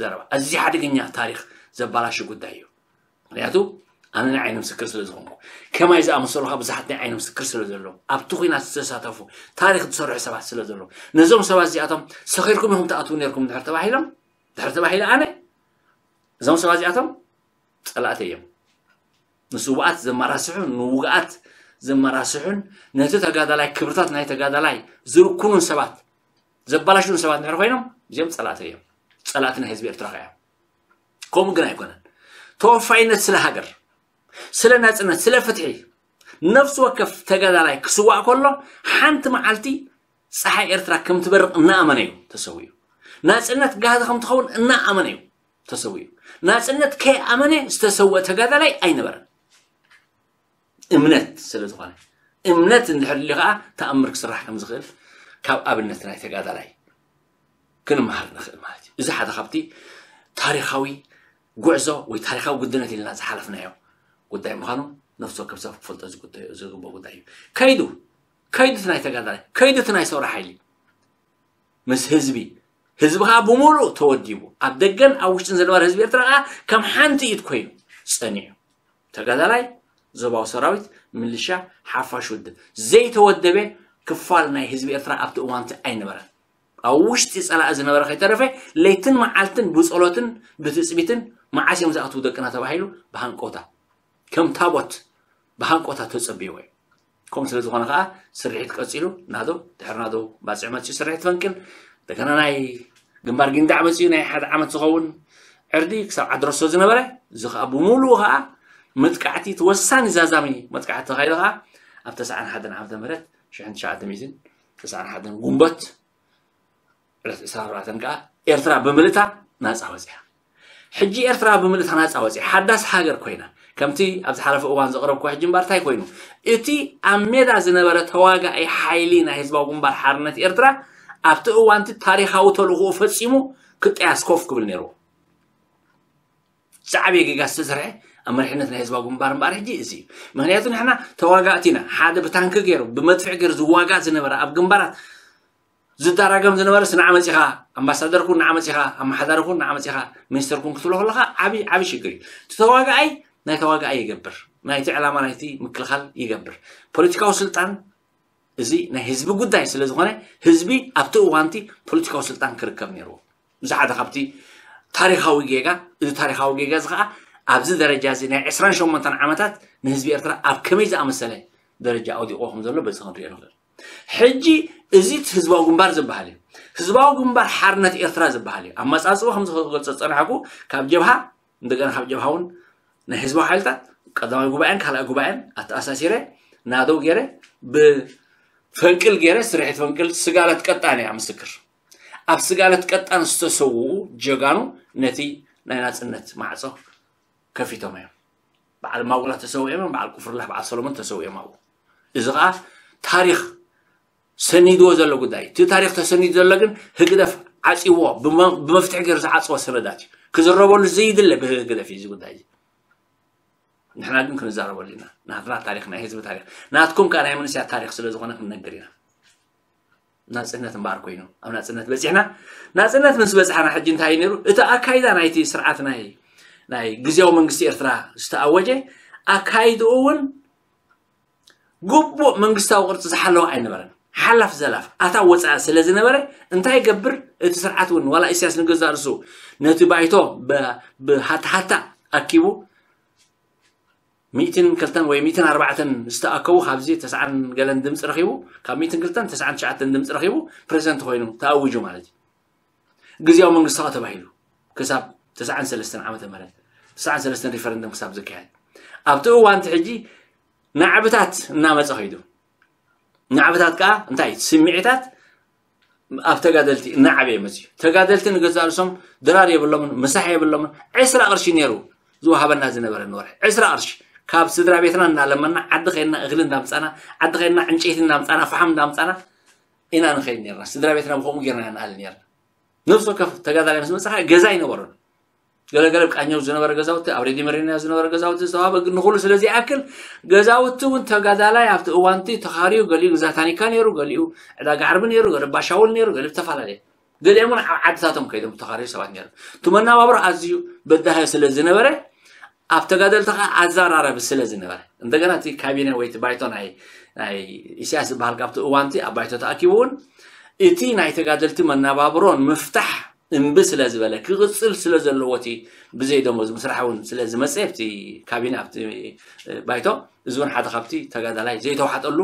ዘረባ ኣዝዩ ሓደገኛ ታሪክ ዘባላሹ ጉዳይ እዩ። ምክንያቱ ኣነ ናይ ዓይኒ ምስክር ስለ ዝኾንኩ ከማይ ዝኣመሰሉ ከዓ ብዙሓት ናይ ዓይኒ ምስክር ስለ ዘለዉ ኣብቲ ኩናት ዝተሳተፉ ታሪክ ዝሰርሑ ሰባት ስለ ዘለዉ ነዞም ሰባት እዚኣቶም ሰኺርኩም ኢኹም ትኣትዉ ነርኩም ድሕር ተባሂሎም ድሕር ተባሂለ ኣነ እዞም ሰባት እዚኣቶም ፀላእተ እዮም። ንስውኣት ዘመራስሑ ንውግኣት ዘመራስሑን ነቲ ተጋዳላይ ክብርታት ናይ ተጋዳላይ ዝርኩኑን ሰባት ዘባላሽውን ሰባት ድሕር ኮይኖም እዚኦም ፀላእተ እዮም። ፀላእቲ ናይ ህዝቢ ኤርትራ ከ እዮም። ከምኡ ግን ኣይኮነን። ተወፋይነት ስለ ሃገር ስለ ናፅነት ስለ ፍትሒ ነፍሲ ወከፍ ተጋዳላይ ክስዋእ ከሎ ሓንቲ መዓልቲ ፀሓይ ኤርትራ ከም ትበርቕ እናኣመነ እዩ ተሰዊኡ። ናፅነት ጋህዲ ከም ትኸውን እናኣመነ እዩ ተሰዊኡ። ናፅነት ከይኣመነ ዝተሰወ ተጋዳላይ ኣይነበረን። እምነት ስለ ዝኾነ እምነት እንድሕር ልዩ ከዓ ተኣምር ክስራሕ ከም ዝኽእል ካብ ኣብነት ናይ ተጋዳላይ ክንመሃር ንኽእል ማለት እዩ። እዚ ሓደ ካብቲ ታሪኻዊ ጉዕዞ ወይ ታሪኻዊ ጉድነት ኢልና ዝሓለፍናዮ ጉዳይ ምዃኑ ነፍሲ ወከፍ ሰብ ክፈልጦ ዝግበኦ ጉዳይ እዩ። ከይዱ ከይዱ እቲ ናይ ተጋዳላይ ከይዱ እቲ ናይ ሰውራ ሓይሊ ምስ ህዝቢ ህዝቢ ከዓ ብምሉእ ተወዲቡ ኣብ ደገን ኣብ ውሽጥን ዝነበረ ህዝቢ ኤርትራ ከዓ ከም ሓንቲ ኢድ ኮይኑ ፀኒዑ ተጋዳላይ ዞባዊ ሰራዊት ምልሻ ሓፋሽ ውድብ ዘይተወደበ ክፋል ናይ ህዝቢ ኤርትራ ኣብቲ እዋንቲ ኣይነበረን። ኣብ ውሽጢ ጸላኢ ዝነበረ ከይተረፈ ለይትን መዓልትን ብጸሎትን ብትጽቢትን መዓስ እዮም ዝኣትዉ ደቅና ተባሂሉ ብሃንቆታ ከም ታቦት ብሃንቆታ ተጸብይዎ እዩ። ከምኡ ስለ ዝኾነ ከዓ ስርሒት ቀጺሉ ናደው ድሕሪ ናደው ባጽዕ መፅኡ ስርሒት ፈንቅል እንደገና ናይ ግንባር ጊንዳዕ መፅኡ ናይ ሓደ ዓመት ዝኸውን ዕርዲ ክሳብ ዓድረሶ ዝነበረ እዚ ከዓ ብምሉኡ ከዓ መጥቃዕቲ እቲ ወሳኒ ዛዛሚ መጥቃዕቲ ተኻይደ ከዓ ኣብ ተስዓን ሓደን ዓመተ ምህረት ሽሕን ትሽዓተ ሚእትን ተስዓን ሓደን ጉንበት ዕለት ዕስራን ኣርባዕተን ከዓ ኤርትራ ብምልእታ ናፃ ወፅያ። ሕጂ ኤርትራ ብምልእታ ናፃ ወፅያ ሓዳስ ሃገር ኮይና ከምቲ ኣብ ዝሓለፈ እዋን ዘቕረብኩ ሕጂ እምበር እንታይ ኮይኑ እቲ ኣብ ሜዳ ዝነበረ ተዋጋኢ ሓይሊ ናይ ህዝባዊ ግንባር ሓርነት ኤርትራ ኣብቲ እዋንቲ ታሪኻዊ ተልእኽኡ ፈፂሙ ክጠያስ ኮፍ ክብል ነይርዎ። ዝዓበየ ጌጋ ዝተሰርሐ ኣብ መሪሕነት ናይ ህዝባዊ ግንባር እምበኣር ሕጂ እዚ እዩ። ምክንያቱ ንሕና ተዋጋእቲ ኢና። ሓደ ብታንኪ ገይሩ ብመድፍዕ ገይሩ ዝዋጋእ ዝነበረ ኣብ ግንባራት ዝዳራገም ዝነበረስ ንዓ መፂኻ ኣምባሳደር ኩን ንዓ መፂኻ ኣመሓዳሪ ኩን ንዓ መፂኻ ሚኒስተር ኩን ክትብሎ ከለካ ዓብዪ ዓብዪ ሽግር እዩ። እቲ ተዋጋኣይ ናይ ተዋጋኣይ ይገብር፣ ናይቲ ዕላማ ናይቲ ምክልኻል ይገብር። ፖለቲካዊ ስልጣን እዚ ናይ ህዝቢ ጉዳይ ስለ ዝኾነ ህዝቢ ኣብቲ እዋንቲ ፖለቲካዊ ስልጣን ክርከብ ነይርዎ። እዚ ሓደ ካብቲ ታሪኻዊ ጌጋ። እዚ ታሪኻዊ ጌጋ እዚ ከዓ ኣብዚ ደረጃ እዚ ናይ ዕስራን ሸሞንተን ዓመታት ንህዝቢ ኤርትራ ኣብ ከመይ ዝኣመሰለ ደረጃ ኣውዲቕዎ ከም ዘሎ በዚ ክንሪኦ ንኽእል። ሕጂ እዚ እቲ ህዝባዊ ግንባር ዝበሃል እዩ። ህዝባዊ ግንባር ሓርነት ኤርትራ ዝበሃል እዩ። ኣመጻጽኡ ከም ዝገልጾ ዝጸናሕኩ ካብ ጀብሃ እንደገና ካብ ጀብሃ እውን ናይ ህዝባዊ ሓይልታት ቀዳማይ ጉባኤን ካልኣይ ጉባኤን ኣተኣሳሲረ ናደው ገይረ ብፈንቅል ገይረ ስርሒት ፈንቅል ስጋለት ቀጣን እያ ምስክር። ኣብ ስጋለት ቀጣን ዝተሰውኡ ጀጋኑ ነቲ ናይ ናጽነት ማዕጾ ከፊቶም እዮም። በዓል ማጉላ ተሰዊኦም እዮም፣ በዓል ቁፍርላህ በዓል ሰሎሞን ተሰዊኦም ኣብኡ። እዚ ከዓ ታሪኽ ሰኒድዎ ዘሎ ጉዳይ እዩ። እቲ ታሪኽ ተሰኒዱ ዘሎ ግን ህግደፍ ዓፂዎ ብመ- ብመፍትሒ ገይሩ ዝዓፅዎ ሰነዳት እዩ። ክዝረበሉ ዘይድለ ብህግደፍ እዩ እዚ ጉዳይ እዚ። ንሕና ግን ክንዛረበሉ ኢና። ናትና ታሪኽ ናይ ህዝቢ ታሪኽ ናትኩም ከዓ ናይ መንእሰያት ታሪኽ ስለ ዝኾነ ክንነግር ኢና። ናፅነት እምበኣር ኮይኑ ኣብ ናፅነት በፂሕና። ናፅነት ምስ በፅሓና ሕጂ እንታይ እዩ ነይሩ እቲ ኣካይዳ ናይቲ ስርዓት ናይ ናይ ግዜያዊ መንግስቲ ኤርትራ ዝተኣወጀ ኣካይድኡ እውን ግቡእ መንግስታዊ ቅርፂ ዝሓለወ ኣይነበረን። ሓላፍ ዘላፍ ኣታ ወፃኢ ስለ ዝነበረ እንታይ ይገብር እቲ ስርዓት እውን ዋላ ኢሳያስ ንገዛእ ርእሱ ነቲ ባይቶ ብ- ብሃታሃታ ኣኪቡ ሚእትን ክልተን ወይ ሚእትን ኣርባዕተን ዝተኣከቡ ካብዚ ተስዓን ገለን ድምፂ ረኺቡ ካብ ሚእትን ክልተን ተስዓን ትሽዓተን ድምፂ ረኺቡ ፕሬዚደንት ኮይኑ ተኣዊጁ ማለት እዩ። ግዜያዊ መንግስቲ ከዓ ተባሂሉ ክሳብ ተስዓን ሰለስተን ዓመተ ምህረት ተስዓን ሰለስተን ሪፈረንደም ክሳብ ዝካየድ ኣብቲ እዋንቲ ሕጂ ናዕብታት እናመፀ ከይዱ ናዕብታት ከዓ እንታይ ስምዒታት ኣብ ተጋደልቲ እናዓበየ መፅዩ። ተጋደልቲ ንገዛእ ርእሶም ድራር የብሎምን፣ ምሳሕ የብሎምን። ዕስራ ቅርሺ ነይሩ ዝወሃበና ዝነበረ ንወርሒ ዕስራ ቅርሺ ካብ ስድራ ቤትና እናለመና ዓዲ ከይድና እኽሊ እንዳምፃና ዓዲ ከይድና ዕንጨይቲ እንዳምፃና ፈሓም እንዳምፃና ኢና ንኸይድ ነርና። ስድራ ቤትና ብከምኡ ጌርና ኢና ንኣሊ ነርና። ነፍሲ ወከፍ ተጋዳላይ ምስ መፅኻ ገዛ ኣይነበሮን። ገለገለ ብቃኘው ዝነበረ ገዛውቲ ኣብ ሬድዮ መሬና ዝነበረ ገዛውቲ ዝተዋበ ግን ንኩሉ ስለ ዘይኣክል ገዛውቲ እውን ተጋዳላይ ኣብቲ እዋንቲ ተኻርዩ ገሊኡ ግዛ ታኒካ ነይሩ፣ ገሊኡ ዕዳጋ ዓርቢ ነይሩ፣ ገለ ባሻውል ነይሩ፣ ገሊኡ ዝተፈላለየ ገሊኦም እውን ኣብ ዓድታቶም ከይዶም ዝተኻርዩ ሰባት ነይሩ። እቲ መናባብሮ ኣዝዩ በዳሂ ስለ ዝነበረ ኣብ ተጋደልቲ ከዓ ኣዘራረቢ ስለ ዝነበረ እንደገና እቲ ካቢነ ወይ እቲ ባይቶ ናይ ናይ ኢሳያስ ዝበሃል ካብቲ እዋንቲ ኣብ ባይቶ ተኣኪቡ እውን እቲ ናይ ተጋደልቲ መናባብሮ ንምፍታሕ እምቢ ስለ ዝበለ ክቕፅል ስለ ዘለዎ እቲ ብዘይ ደሞዝ ምስራሕ እውን ስለ ዝመፀ ኣብቲ ካቢነ ኣብቲ ባይቶ እዚ እውን ሓደ ካብቲ ተጋዳላይ ዘይተዋሕጠሉ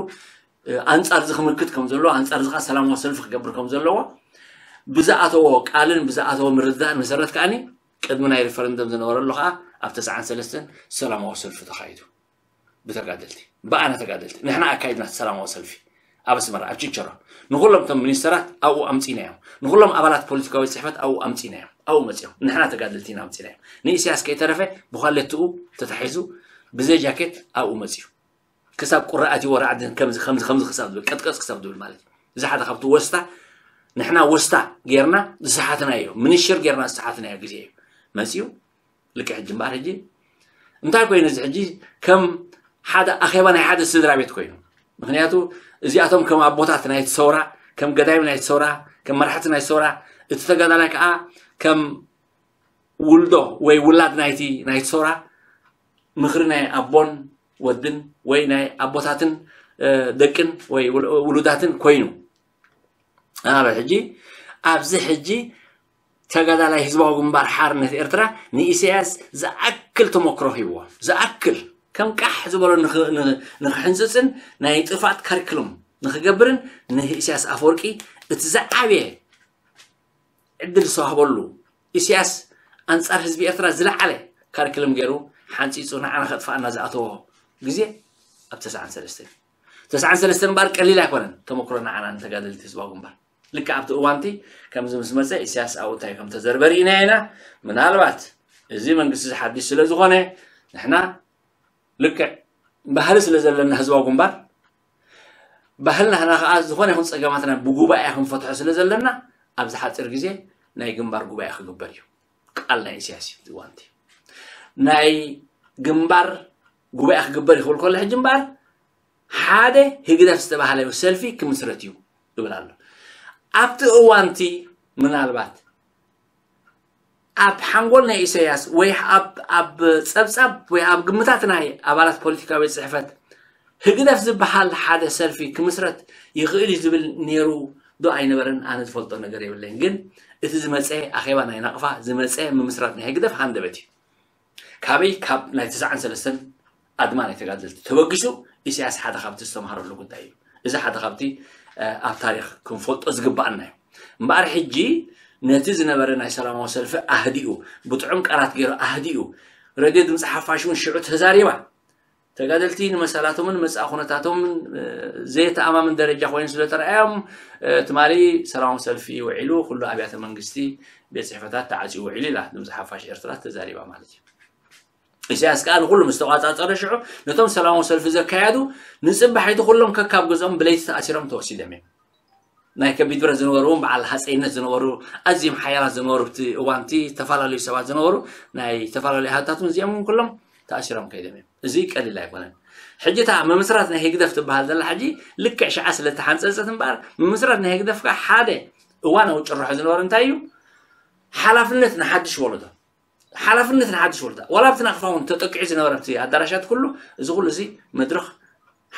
ኣንፃር እዚ ክምክት ከም ዘለዎ ኣንፃር እዚ ከዓ ሰላማዊ ሰልፊ ክገብር ከም ዘለዎ ብዝኣተዎ ቃልን ብዝኣተዎ ምርድዳእን መሰረት ከዓኒ ቅድሚ ናይ ሪፈረንደም ዝነበረሉ ከዓ ኣብ ተስዓን ሰለስተን ሰላማዊ ሰልፊ ተኻይዱ ብተጋደልቲ ብኣና ተጋደልቲ ንሕና ኣካይድና ሰላማዊ ሰልፊ ኣብ ኣስመራ ኣብ ችቸሮ ንኩሎም እቶም ሚኒስተራት ኣብኡ ኣምፂናዮም ንኩሎም ኣባላት ፖለቲካዊ ፅሕፈት ኣብኡ ኣምፂናዮም ኣብኡ መፂኦም ንሕና ተጋደልቲ ኢና ኣምፂናዮም ንኢሳያስ ከይተረፈ ብኳሌትኡ ተታሒዙ ብዘይ ጃኬት ኣብኡ መፂኡ ክሳብ ቁሪ ኣትይዎ ራዕዲ ከምዚ ከምዚ ከምዚ ክሳብ ዝብል ቀጥቀፅ ክሳብ ዝብል ማለት እዩ እዚ ሓደ ካብቲ ወስታ ንሕና ወስታ ጌርና ዝሰሓትናዮ ምንሽር ጌርና ዝሰሓትናዮ ግዜ እዩ መፅዩ ልክዕ ሕጂ እምበኣር ሕጂ እንታይ ኮይኑ እዚ ሕጂ ከም ሓደ ኣኼባ ናይ ሓደ ስድራ ቤት ኮይኑ ምክንያቱ እዚኣቶም ከም ኣቦታት ናይቲ ሰውራ ከም ገዳይም ናይቲ ሰውራ ከም መራሕቲ ናይቲ ሰውራ እቲ ተጋዳላይ ከዓ ከም ውልዶ ወይ ውላድ ናይቲ ናይቲ ሰውራ ምኽሪ ናይ ኣቦን ወድን ወይ ናይ ኣቦታትን ደቅን ወይ ውሉዳትን ኮይኑ ኣበ ሕጂ ኣብዚ ሕጂ ተጋዳላይ ህዝባዊ ግንባር ሓርነት ኤርትራ ንኢሳያስ ዝኣክል ተመክሮ ሂብዎ፣ ዝኣክል ከም ቃሕ ዝበሎ ንኽ- ን- ንኽሕንፅፅን ናይ ጥፋት ካሪክሉም ንኽገብርን ንኢሳያስ ኣፈወርቂ እቲ ዝዓበየ ዕድል ዝተዋህበሉ፣ ኢሳያስ ኣንጻር ህዝቢ ኤርትራ ዝለዓለ ካሪክሉም ገይሩ ሓንፂፁ ንዓና ከጥፋኣና ዝኣተዎ ግዜ ኣብ ተስዓን ሰለስተን። ተስዓን ሰለስተን እምበኣር ቀሊል ኣይኮነን ተመክሮ ንዓና ንተጋደልቲ ህዝባዊ ግንባር። ልክዕ ኣብቲ እዋንቲ ከምዚ ምስ መፀ ኢሳያስ ኣብኡ እንታይ ከም ተዘርበ ርኢና ኢና። ምናልባት እዚ መንግስቲ እዚ ሓድሽ ስለ ዝኾነ ንሕና ልክዕ ባህሊ ስለ ዘለና ህዝባዊ ግንባር ባህልና ህና ከዓ ዝኾነ ይኹን ፀገማትና ብጉባኤ ክንፈትሖ ስለ ዘለና ኣብዚ ሓፂር ግዜ ናይ ግንባር ጉባኤ ክግበር እዩ። ቃል ናይ ኢሳያስ እዩ። እቲ እዋንቲ ናይ ግንባር ጉባኤ ክግበር ይኽብል ከሎ ሕጂ እምበኣር ሓደ ህግደፍ ዝተባህለ ሰልፊ ክምስረት እዩ ይብል ኣሎ። ኣብቲ እዋንቲ ምናልባት ኣብ ሓንጎል ናይ ኢሳያስ ወይ ኣብ ኣብ ጸብጻብ ወይ ኣብ ግምታት ናይ ኣባላት ፖለቲካዊ ጽሕፈት ህግደፍ ዝበሃል ሓደ ሰልፊ ክምስረት ይኽእል እዩ ዝብል ነይሩ ዶ ኣይነበረን? ኣነ ዝፈልጦ ነገር የብለይን። ግን እቲ ዝመጸ ኣኼባ ናይ ናቕፋ ዝመጸ ምምስራት ናይ ህግደፍ ሃንደበት እዩ። ካበይ? ካብ ናይ ተስዓን ሰለስተን ኣድማ ናይ ተጋደልቲ ተበጊሱ ኢሳያስ ሓደ ካብቲ ዝተምሃረሉ ጉዳይ እዩ። እዚ ሓደ ካብቲ ኣብ ታሪክ ክንፈልጦ ዝግባኣና እዩ። እምበኣር ሕጂ ነቲ ዝነበረ ናይ ሰላማዊ ሰልፊ ኣህዲኡ፣ ብጥዑም ቃላት ገይሩ ኣህዲኡ፣ ረድዮ ድምፂ ሓፋሽ እውን ሽዑ ተዛሪባ። ተጋደልቲ ንመሰላቶምን መፃኢ ኩነታቶምን ዘየተኣማምን ደረጃ ኮይኑ ስለተረኣዮም ትማሊ ሰላማዊ ሰልፊ ውዒሉ ኩሉ ኣብያተ መንግስቲ ቤት ፅሕፈታት ተዓፅዩ ውዒሉ ኢላ ድምፂ ሓፋሽ ኤርትራ ተዛሪባ ማለት እዩ። ኢሳያስ ከዓ ንኩሉ ምስ ተቋፃፀረ ሽዑ ነቶም ሰላማዊ ሰልፊ ዘካየዱ ንፅባሒቲ ኩሎም ከካብ ገዝኦም ብለይቲ ተኣሲሮም ተወሲዶም እዮም። ናይ ከቢድ ብረት ዝነበሩ እውን በዓል ሃፀይነት ዝነበሩ ኣዝዮም ሓያላት ዝነበሩ ኣብቲ እዋንቲ ዝተፈላለዩ ሰባት ዝነበሩ ናይ ዝተፈላለዩ ሃታቱን እዚኦም እውን ኩሎም ተኣሲሮም ከይዶም እዮም። እዚ ቀሊል ኣይኮነን። ሕጂ እታ ምምስራት ናይ ህግደፍ ትበሃል ዘላ ሕጂ ልክዕ ሽዓ ስለ ተሓንፀፀት እምበኣር ምምስራት ናይ ህግደፍ ከዓ ሓደ እዋናዊ ጭርሖ ዝነበረ እንታይ እዩ? ሓላፍነት ንሓድሽ ወለዶ ሓላፍነት ንሓድሽ ወለዶ ዋላ ኣብቲ ናቕፋ እውን ተጠቂዑ ዝነበረ ኣብቲ ኣዳራሻት ኩሉ እዚ ኩሉ እዚ መድረኽ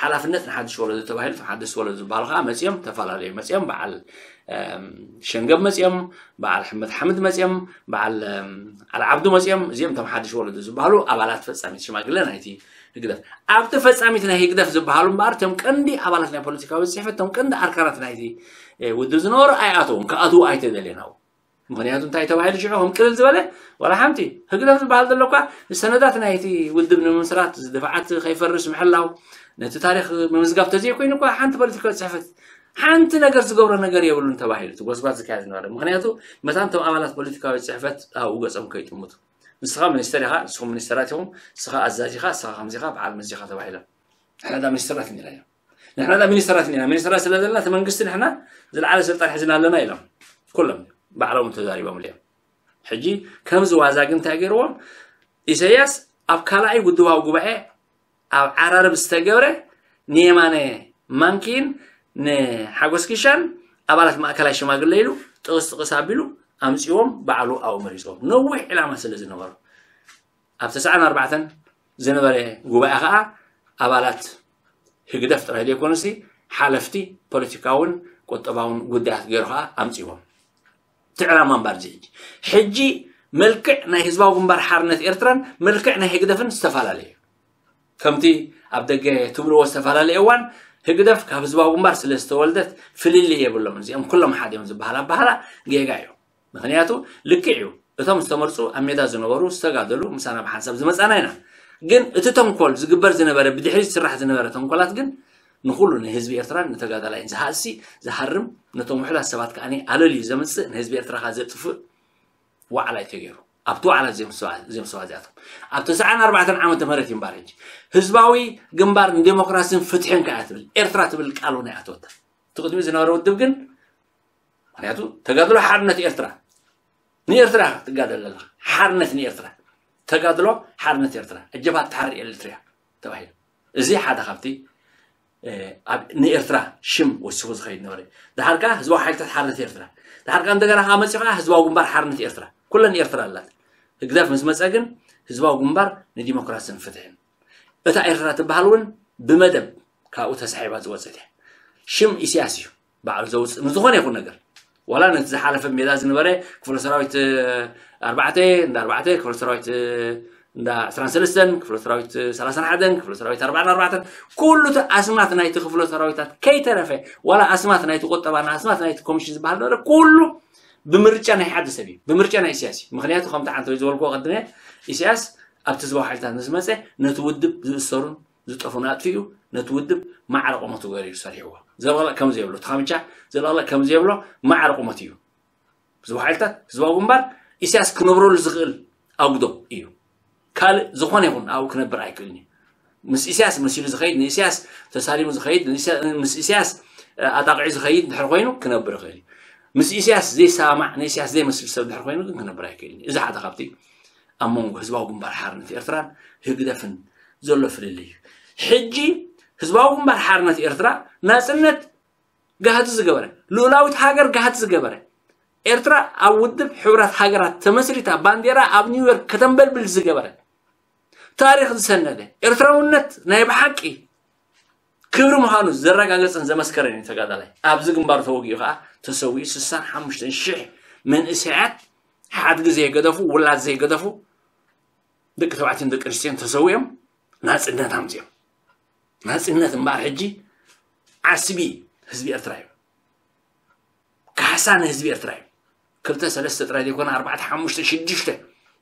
ሓላፍነት ንሓድሽ ወለዶ ተባሂሉ እቶም ሓደሽቲ ወለዶ ዝበሃሉ ከዓ መፂኦም ተፈላለዩ መፂኦም በዓል ሸንገብ መፂኦም በዓል ሕመድ ሓምድ መፂኦም በዓል ዓልዓብዱ መፂኦም እዚኦም እቶም ሓድሽ ወለዶ ዝበሃሉ ኣባላት ፈፃሚት ሽማግለ ናይቲ ህግደፍ ኣብቲ ፈፃሚት ናይ ህግደፍ ዝበሃሉ እምበኣር እቶም ቀንዲ ኣባላት ናይ ፖለቲካዊ ፅሕፈት እቶም ቀንዲ ኣርካናት ናይቲ ውድብ ዝነበሩ ኣይኣተውን ክኣትዉ ኣይተደልየን ኣብኡ ምኽንያቱ እንታይ ተባሂሉ ሽዑ ከም ቅልል ዝበለ ዋላ ሓንቲ ህግደፍ ዝበሃል ዘሎ እኳ ንሰነዳት ናይቲ ውድብ ንምምስራት ዝድፋዓት ከይፈርስ ምሕላው ነቲ ታሪክ ምምዝጋብ ተዘይኮይኑ እኳ ሓንቲ ፖለቲካዊ ፅሕፈት ሓንቲ ነገር ዝገብሮ ነገር የብሉን ተባሂሉ እቲ ጎስጓስ ዝካየድ ዝነበረ ምኽንያቱ መታን እቶም ኣባላት ፖለቲካዊ ፅሕፈት ኣብኡ ገፆም ከይጥምቱ ንስኻ ሚኒስተር ኢኻ ንስኹም ሚኒስተራት ኢኹም ንስኻ ኣዛዚ ኢኻ ንስኻ ከምዚ ኢኻ በዓል መዚ ኢኻ ተባሂሎም ሕዳ ሚኒስተራት ነይራ እዮም ንሕና ዳ ሚኒስተራት ኢና ሚኒስተራት ስለ ዘለና እቲ መንግስቲ ንሕና ዝለዓለ ስልጣን ሒዝና ኣለና ኢሎም ኩሎም ባዕሎም ተዛሪቦም እዮም ሕጂ ከምዚ ዋዛ ግን እንታይ ገይርዎም ኢሳያስ ኣብ ካልኣይ ውድባዊ ጉባኤ ኣብ ዓራርብ ዝተገብረ ንየማነ ማንኪን ንሓጎስ ኪሻን ኣባላት ማእከላይ ሽማግለ ኢሉ ጥቕስ ጥቕስ ኣቢሉ ኣምፅዎም ባዕሉ ኣብኡ መሪፅዎም ነዊሕ ዕላማ ስለ ዝነበሩ ኣብ ተስዓን ኣርባዕተን ዝነበረ ጉባኤ ከዓ ኣባላት ህግደፍ ጥራይ ዘይኮኑሲ ሓለፍቲ ፖለቲካውን ቁጠባውን ጉዳያት ገይሩ ከዓ ኣምፅዎም እቲ ዕላማ እምበር እዚ ሕጂ ሕጂ መልክዕ ናይ ህዝባዊ ግንባር ሓርነት ኤርትራን መልክዕ ናይ ህግደፍን ዝተፈላለዩ ከምቲ ኣብ ደገ ትብልዎ ዝተፈላለየ እዋን ህግደፍ ካብ ህዝባዊ ግንባር ስለ ዝተወልደት ፍልልይ የብሎም እዚኦም ኩሎም ሓደ እዮም ዝበሃል ኣበሃላ ጌጋ እዩ ምኽንያቱ ልክዕ እዩ እቶም ዝተመርፁ ኣብ ሜዳ ዝነበሩ ዝተጋደሉ ምሳና ብሓንሳብ ዝመፃና ኢና ግን እቲ ተንኮል ዝግበር ዝነበረ ብድሕሪት ዝስራሕ ዝነበረ ተንኮላት ግን ንኩሉ ንህዝቢ ኤርትራን ንተጋዳላይን ዝሃሲ ዝሃርም ነቶም ውሕዳት ሰባት ከዓ ኣለልዩ ዘምፅእ ንህዝቢ ኤርትራ ከዓ ዘጥፍእ ዋዕላ እዩ ተገይሩ ኣብቲ ዋዕላ እዚኦም ሰባት እዚኣቶም ኣብ ተስዓን ኣርባዕተን ዓመተ ምህረት እዩ እምበር ሕጂ ህዝባዊ ግንባር ንዴሞክራሲን ፍትሕን ከዓ ትብል ኤርትራ ትብል ቃል እውን ኣይኣተወታ እቲ ቅድሚ ዝነበረ ውድብ ግን ምክንያቱ ተጋድሎ ሓርነት ኤርትራ ንኤርትራ ትጋደል ኣለካ ሓርነት ንኤርትራ ተጋድሎ ሓርነት ኤርትራ እጀብሃት ተሓርር ኤርትርያ ተባሂሉ እዚ ሓደ ካብቲ ንኤርትራ ሽም ወሲኹ ዝኸይድ ነበረ ድሓር ከዓ ህዝባዊ ሓይልታት ሓርነት ኤርትራ ድሓር ከዓ እንደገና ከዓ መፂኡ ከዓ ህዝባዊ ግንባር ሓርነት ኤርትራ ኩለን ኤርትራ ኣላት ህግደፍ ምስ መፀ ግን ህዝባዊ ግንባር ንዲሞክራስን ፍትሕን እታ ኤርትራ ትበሃል እውን ብመደብ ካብኡ ተሳሒባ ዝወፀት እያ ሽም ኢሳያስ እዩ ባዕሉ ዘውፅእ ንዝኾነ ይኹን ነገር ዋላ ነቲ ዝሓለፈ ሜዳ ዝነበረ ክፍለ ሰራዊት ኣርባዕተ እንዳ ኣርባዕተ ክፍለ ሰራዊት እንዳ ዕስራን ሰለስተን ክፍለ ሰራዊት ሰላሳን ሓደን ክፍለ ሰራዊት ኣርባዕን ኣርባዕተን ኩሉ እቲ ኣስማት ናይቲ ክፍለ ሰራዊታት ከይተረፈ ዋላ ኣስማት ናይቲ ቁጠባና ኣስማት ናይቲ ኮሚሽን ዝበሃል ነበረ ኩሉ ብምርጫ ናይ ሓደ ሰብ እዩ ብምርጫ ናይ ኢሳያስ እዩ ምክንያቱ ከምቲ ሓንቲ ዝበልኩዎ ቀድመ ኢሳያስ ኣብቲ ህዝባዊ ሓይልታት ምስ መፀ ነቲ ውድብ ዝእሰሩን ዝጠፉን ኣጥፊኡ ነቲ ውድብ ማዕረ ቁመቱ ገይሩ እዩ ሰሪሕዎ ዘለቕለቕ ከም ዘይብሎ ተኻምቻ ዘለቕለቕ ከም ዘይብሎ ማዕረ ቁመት እዩ ህዝባዊ ሓይልታት ህዝባዊ ግንባር ኢሳያስ ክነብረሉ ዝኽእል ኣጉዶ እዩ ካልእ ዝኾነ ይኹን ኣብኡ ክነብር ኣይክእልን እዩ ምስ ኢሳያስ መሲሉ ዝኸይድ ንኢሳያስ ተሳሊሙ ዝኸይድ ምስ ኢሳያስ ኣጣቕዒ ዝኸይድ ድሕር ኮይኑ ክነብር ይኽእል እዩ ምስ ኢሳያስ ዘይሰማማዕ ንኢሳያስ ዘይመስል ሰብ ድሕር ኮይኑ ግን ክነብር ኣይክእልን እዩ እዚ ሓደ ካብቲ ኣብ መንጎ ህዝባዊ ግንባር ሓርነት ኤርትራን ህግደፍን ዘሎ ፍልልይ እዩ ሕጂ ህዝባዊ ግንባር ሓርነት ኤርትራ ናፅነት ጋህዲ ዝገበረ ልኡላዊት ሃገር ጋህዲ ዝገበረ ኤርትራ ኣብ ውድብ ሕብራት ሃገራት ተመስሪታ ባንዴራ ኣብ ኒውዮርክ ከተንበልብል ዝገበረ ታሪክ ዝሰነደ ኤርትራውነት ናይ ብሓቂ ክብሪ ምዃኑ ዘረጋገጸን ዘመስከረን እዩ ተጋዳላይ ኣብዚ ግንባር ተወጊኡ ከዓ ተሰዊኡ ስሳን ሓሙሽተን ሽሕ መንእሰያት ሓድጊ ዘይገደፉ ውላድ ዘይገደፉ ደቂ ተባዕትዮን ደቂ ኣንስትዮን ተሰዊኦም ናፅነት ኣምፅኦም ናፅነት እምበኣር ሕጂ ዓስቢ ህዝቢ ኤርትራ እዩ ካሕሳ ንህዝቢ ኤርትራ እዩ ክልተ ሰለስተ ጥራይ ዘይኮነ ኣርባዕተ ሓሙሽተ ሽዱሽተ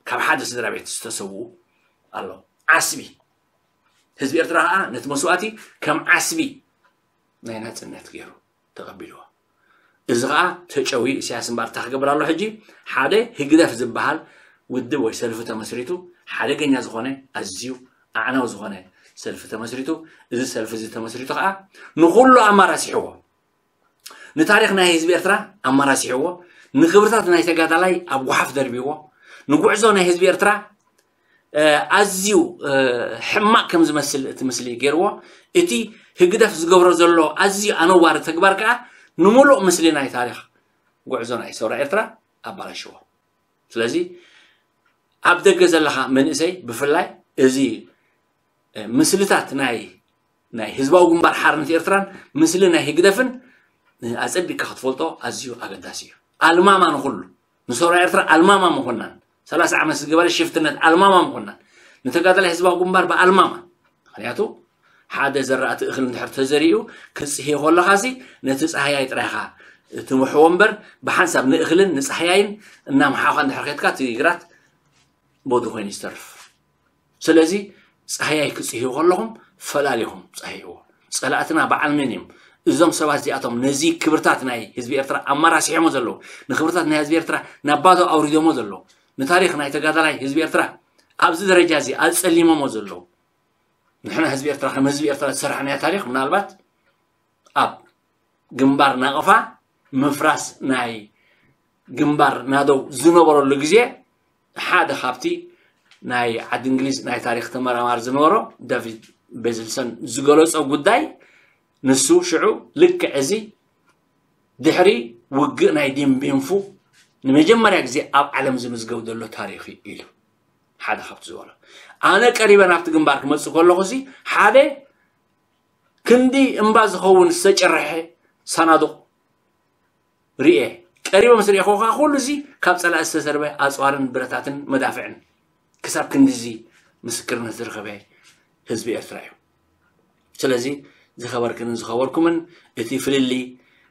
ካብ ሓደ ስድራ ቤት ዝተሰውኡ ኣሎ ዓስቢ ህዝቢ ኤርትራ ከዓ ነቲ መስዋእቲ ከም ዓስቢ ናይ ናፅነት ገይሩ ተቐቢልዎ እዚ ከዓ ተጨውዩ ኢሳያስ እምበኣር እንታይ ክገብር ኣሎ ሕጂ ሓደ ህግደፍ ዝበሃል ውድብ ወይ ሰልፊ ተመስሪቱ ሓደገኛ ዝኾነ ኣዝዩ ኣዕናዊ ዝኾነ ሰልፊ ተመስሪቱ እዚ ሰልፊ እዚ ተመስሪቱ ከዓ ንኩሉ ኣማራሲሕዎ ንታሪኽ ናይ ህዝቢ ኤርትራ ኣማራሲሕዎ ንክብርታት ናይ ተጋዳላይ ኣብ ጓሓፍ ደርቢዎ ንጉዕዞ ናይ ህዝቢ ኤርትራ ኣዝዩ ሕማቕ ከም ዝመስል እቲ ምስሊ ገይርዎ እቲ ህግደፍ ዝገብሮ ዘሎ ኣዝዩ ኣነዋሪ ተግባር ከዓ ንምሉእ ምስሊ ናይ ታሪኽ ጉዕዞ ናይ ሰውራ ኤርትራ ኣባላሽዎ ስለዚ ኣብ ደገ ዘለኻ መንእሰይ ብፍላይ እዚ ምስልታት ናይ ናይ ህዝባዊ ግንባር ሓርነት ኤርትራን ምስሊ ናይ ህግደፍን ኣጸቢቅካ ክትፈልጦ ኣዝዩ ኣገዳሲ እዩ ኣልማማ ንኩሉ ንሰውራ ኤርትራ ኣልማማ ምኮናን ሰላሳ ዓመት ዝገበረ ሽፍትነት ኣልማማ ምኮናን ንተጋዳላይ ህዝባዊ ግንባር ብኣልማማ ምክንያቱ ሓደ ዘራእቲ እኽሊ እንድሕር ተዘሪኡ ክጽህዮ ከለኻሲ ነቲ ጻህያይ ጥራይኻ ትምሕዎ እምበር ብሓንሳብ ንእኽልን ንጻህያይን እናምሓኻ እንድሕር ከድካ እቲ ግራት ቦዲ ኮይኑ ዝተርፍ ስለዚ ጻህያይ ክጽህዩ ከለኹም ፈላሊኹም ጻህይዎ ጸላእትና በዓል መን እዮም እዞም ሰባት እዚኣቶም ነዚ ክብርታት ናይ ህዝቢ ኤርትራ ኣማራሲሖሞ ዘለዉ ንክብርታት ናይ ህዝቢ ኤርትራ ናብ ባዶ ኣውሪዶሞ ዘለዉ ንታሪክ ናይ ተጋዳላይ ህዝቢ ኤርትራ ኣብዚ ደረጃ እዚ ኣጸሊሞሞ ዘለዉ ንሕና ህዝቢ ኤርትራ ከም ህዝቢ ኤርትራ ዝሰራሕናዮ ታሪክ ምናልባት ኣብ ግንባር ናቕፋ ምፍራስ ናይ ግንባር ናደው ዝነበረሉ ግዜ ሓደ ካብቲ ናይ ዓዲ እንግሊዝ ናይ ታሪክ ተመራማሪ ዝነበሮ ዳቪድ ቤዝልሰን ዝገለጾ ጉዳይ ንሱ ሽዑ ልክዕ እዚ ድሕሪ ውግእ ናይ ዲምቢንፉ ንመጀመርያ ግዜ ኣብ ዓለም ዝምዝገብ ዘሎ ታሪክ እዩ ኢሉ ሓደ ካብቲ ዝበሎ ኣነ ቀሪበ ናብቲ ግንባር ክመፅእ ከለኹ ሲ ሓደ ክንዲ እምባ ዝኸውን ዝተጨረሐ ሳናዱቕ ርኤ ቀሪበ ምስ ርኤኹ ከዓ ኩሉ እዚ ካብ ፀላኢ ዝተሰርበ ኣፅዋርን ብረታትን መዳፍዕን ክሳብ ክንድዚ ምስክርነት ዝረኸበ ህዝቢ ኤርትራ እዩ ስለዚ ዝኸበርክንን ዝኸበርኩምን እቲ ፍልሊ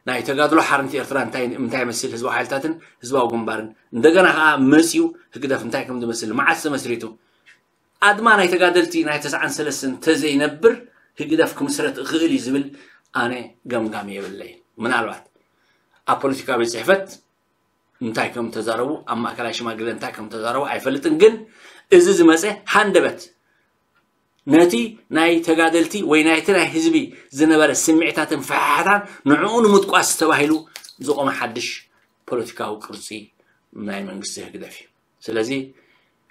ናይ ተጋድሎ ሓርነት ኤርትራ እንታይ እንታይ መስል ህዝባዊ ሓይልታትን ህዝባዊ ግንባርን እንደገና ከዓ መፅዩ ህግደፍ እንታይ ከም ዝመስል መዓስ ተመስሪቱ ኣድማ ናይ ተጋደልቲ ናይ ተስዓን ሰለስተን ተዘይነብር ህግደፍ ክምስረት እኽእል እዩ ዝብል ኣነ ገምጋም የብለይ ምናልባት ኣብ ፖለቲካ ቤት ፅሕፈት እንታይ ከም ተዛረቡ ኣብ ማእከላይ ሽማግለ እንታይ ከም ተዛረቡ ኣይፈልጥን ግን እዚ ዝመፀ ሃንደበት ነቲ ናይ ተጋደልቲ ወይ ናይቲ ናይ ህዝቢ ዝነበረ ስምዒታትን ፈሓሕታን ንዕኡ ንምጥቋስ ተባሂሉ ዝቆመ ሓድሽ ፖለቲካዊ ቅርፂ ናይ መንግስቲ ህግደፍ እዩ ስለዚ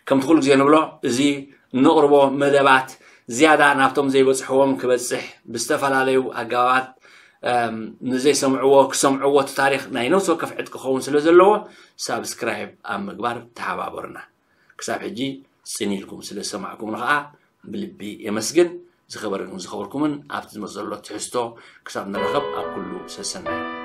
ከምቲ ኩሉ ግዜ ንብሎ እዚ እንቕርቦ መደባት ዝያዳ ናብቶም ዘይበፅሕዎም ክበፅሕ ብዝተፈላለዩ ኣገባባት ንዘይሰምዕዎ ክሰምዕዎ እቲ ታሪክ ናይ ነብሲ ወከፍ ዕጥቂ ክኸውን ስለ ዘለዎ ሳብስክራይብ ኣብ ምግባር ተሓባበሩና ክሳብ ሕጂ ፅን ኢልኩም ስለ ዝሰማዕኩምኒ ከዓ ብልቢ የመስግን ዝኸበርኩም ዝኸበርኩምን ኣብቲ ዝመፅ ዘሎ ትሕዝቶ ክሳብ ንራኸብ ኣብ ኩሉ ሰሰናዩ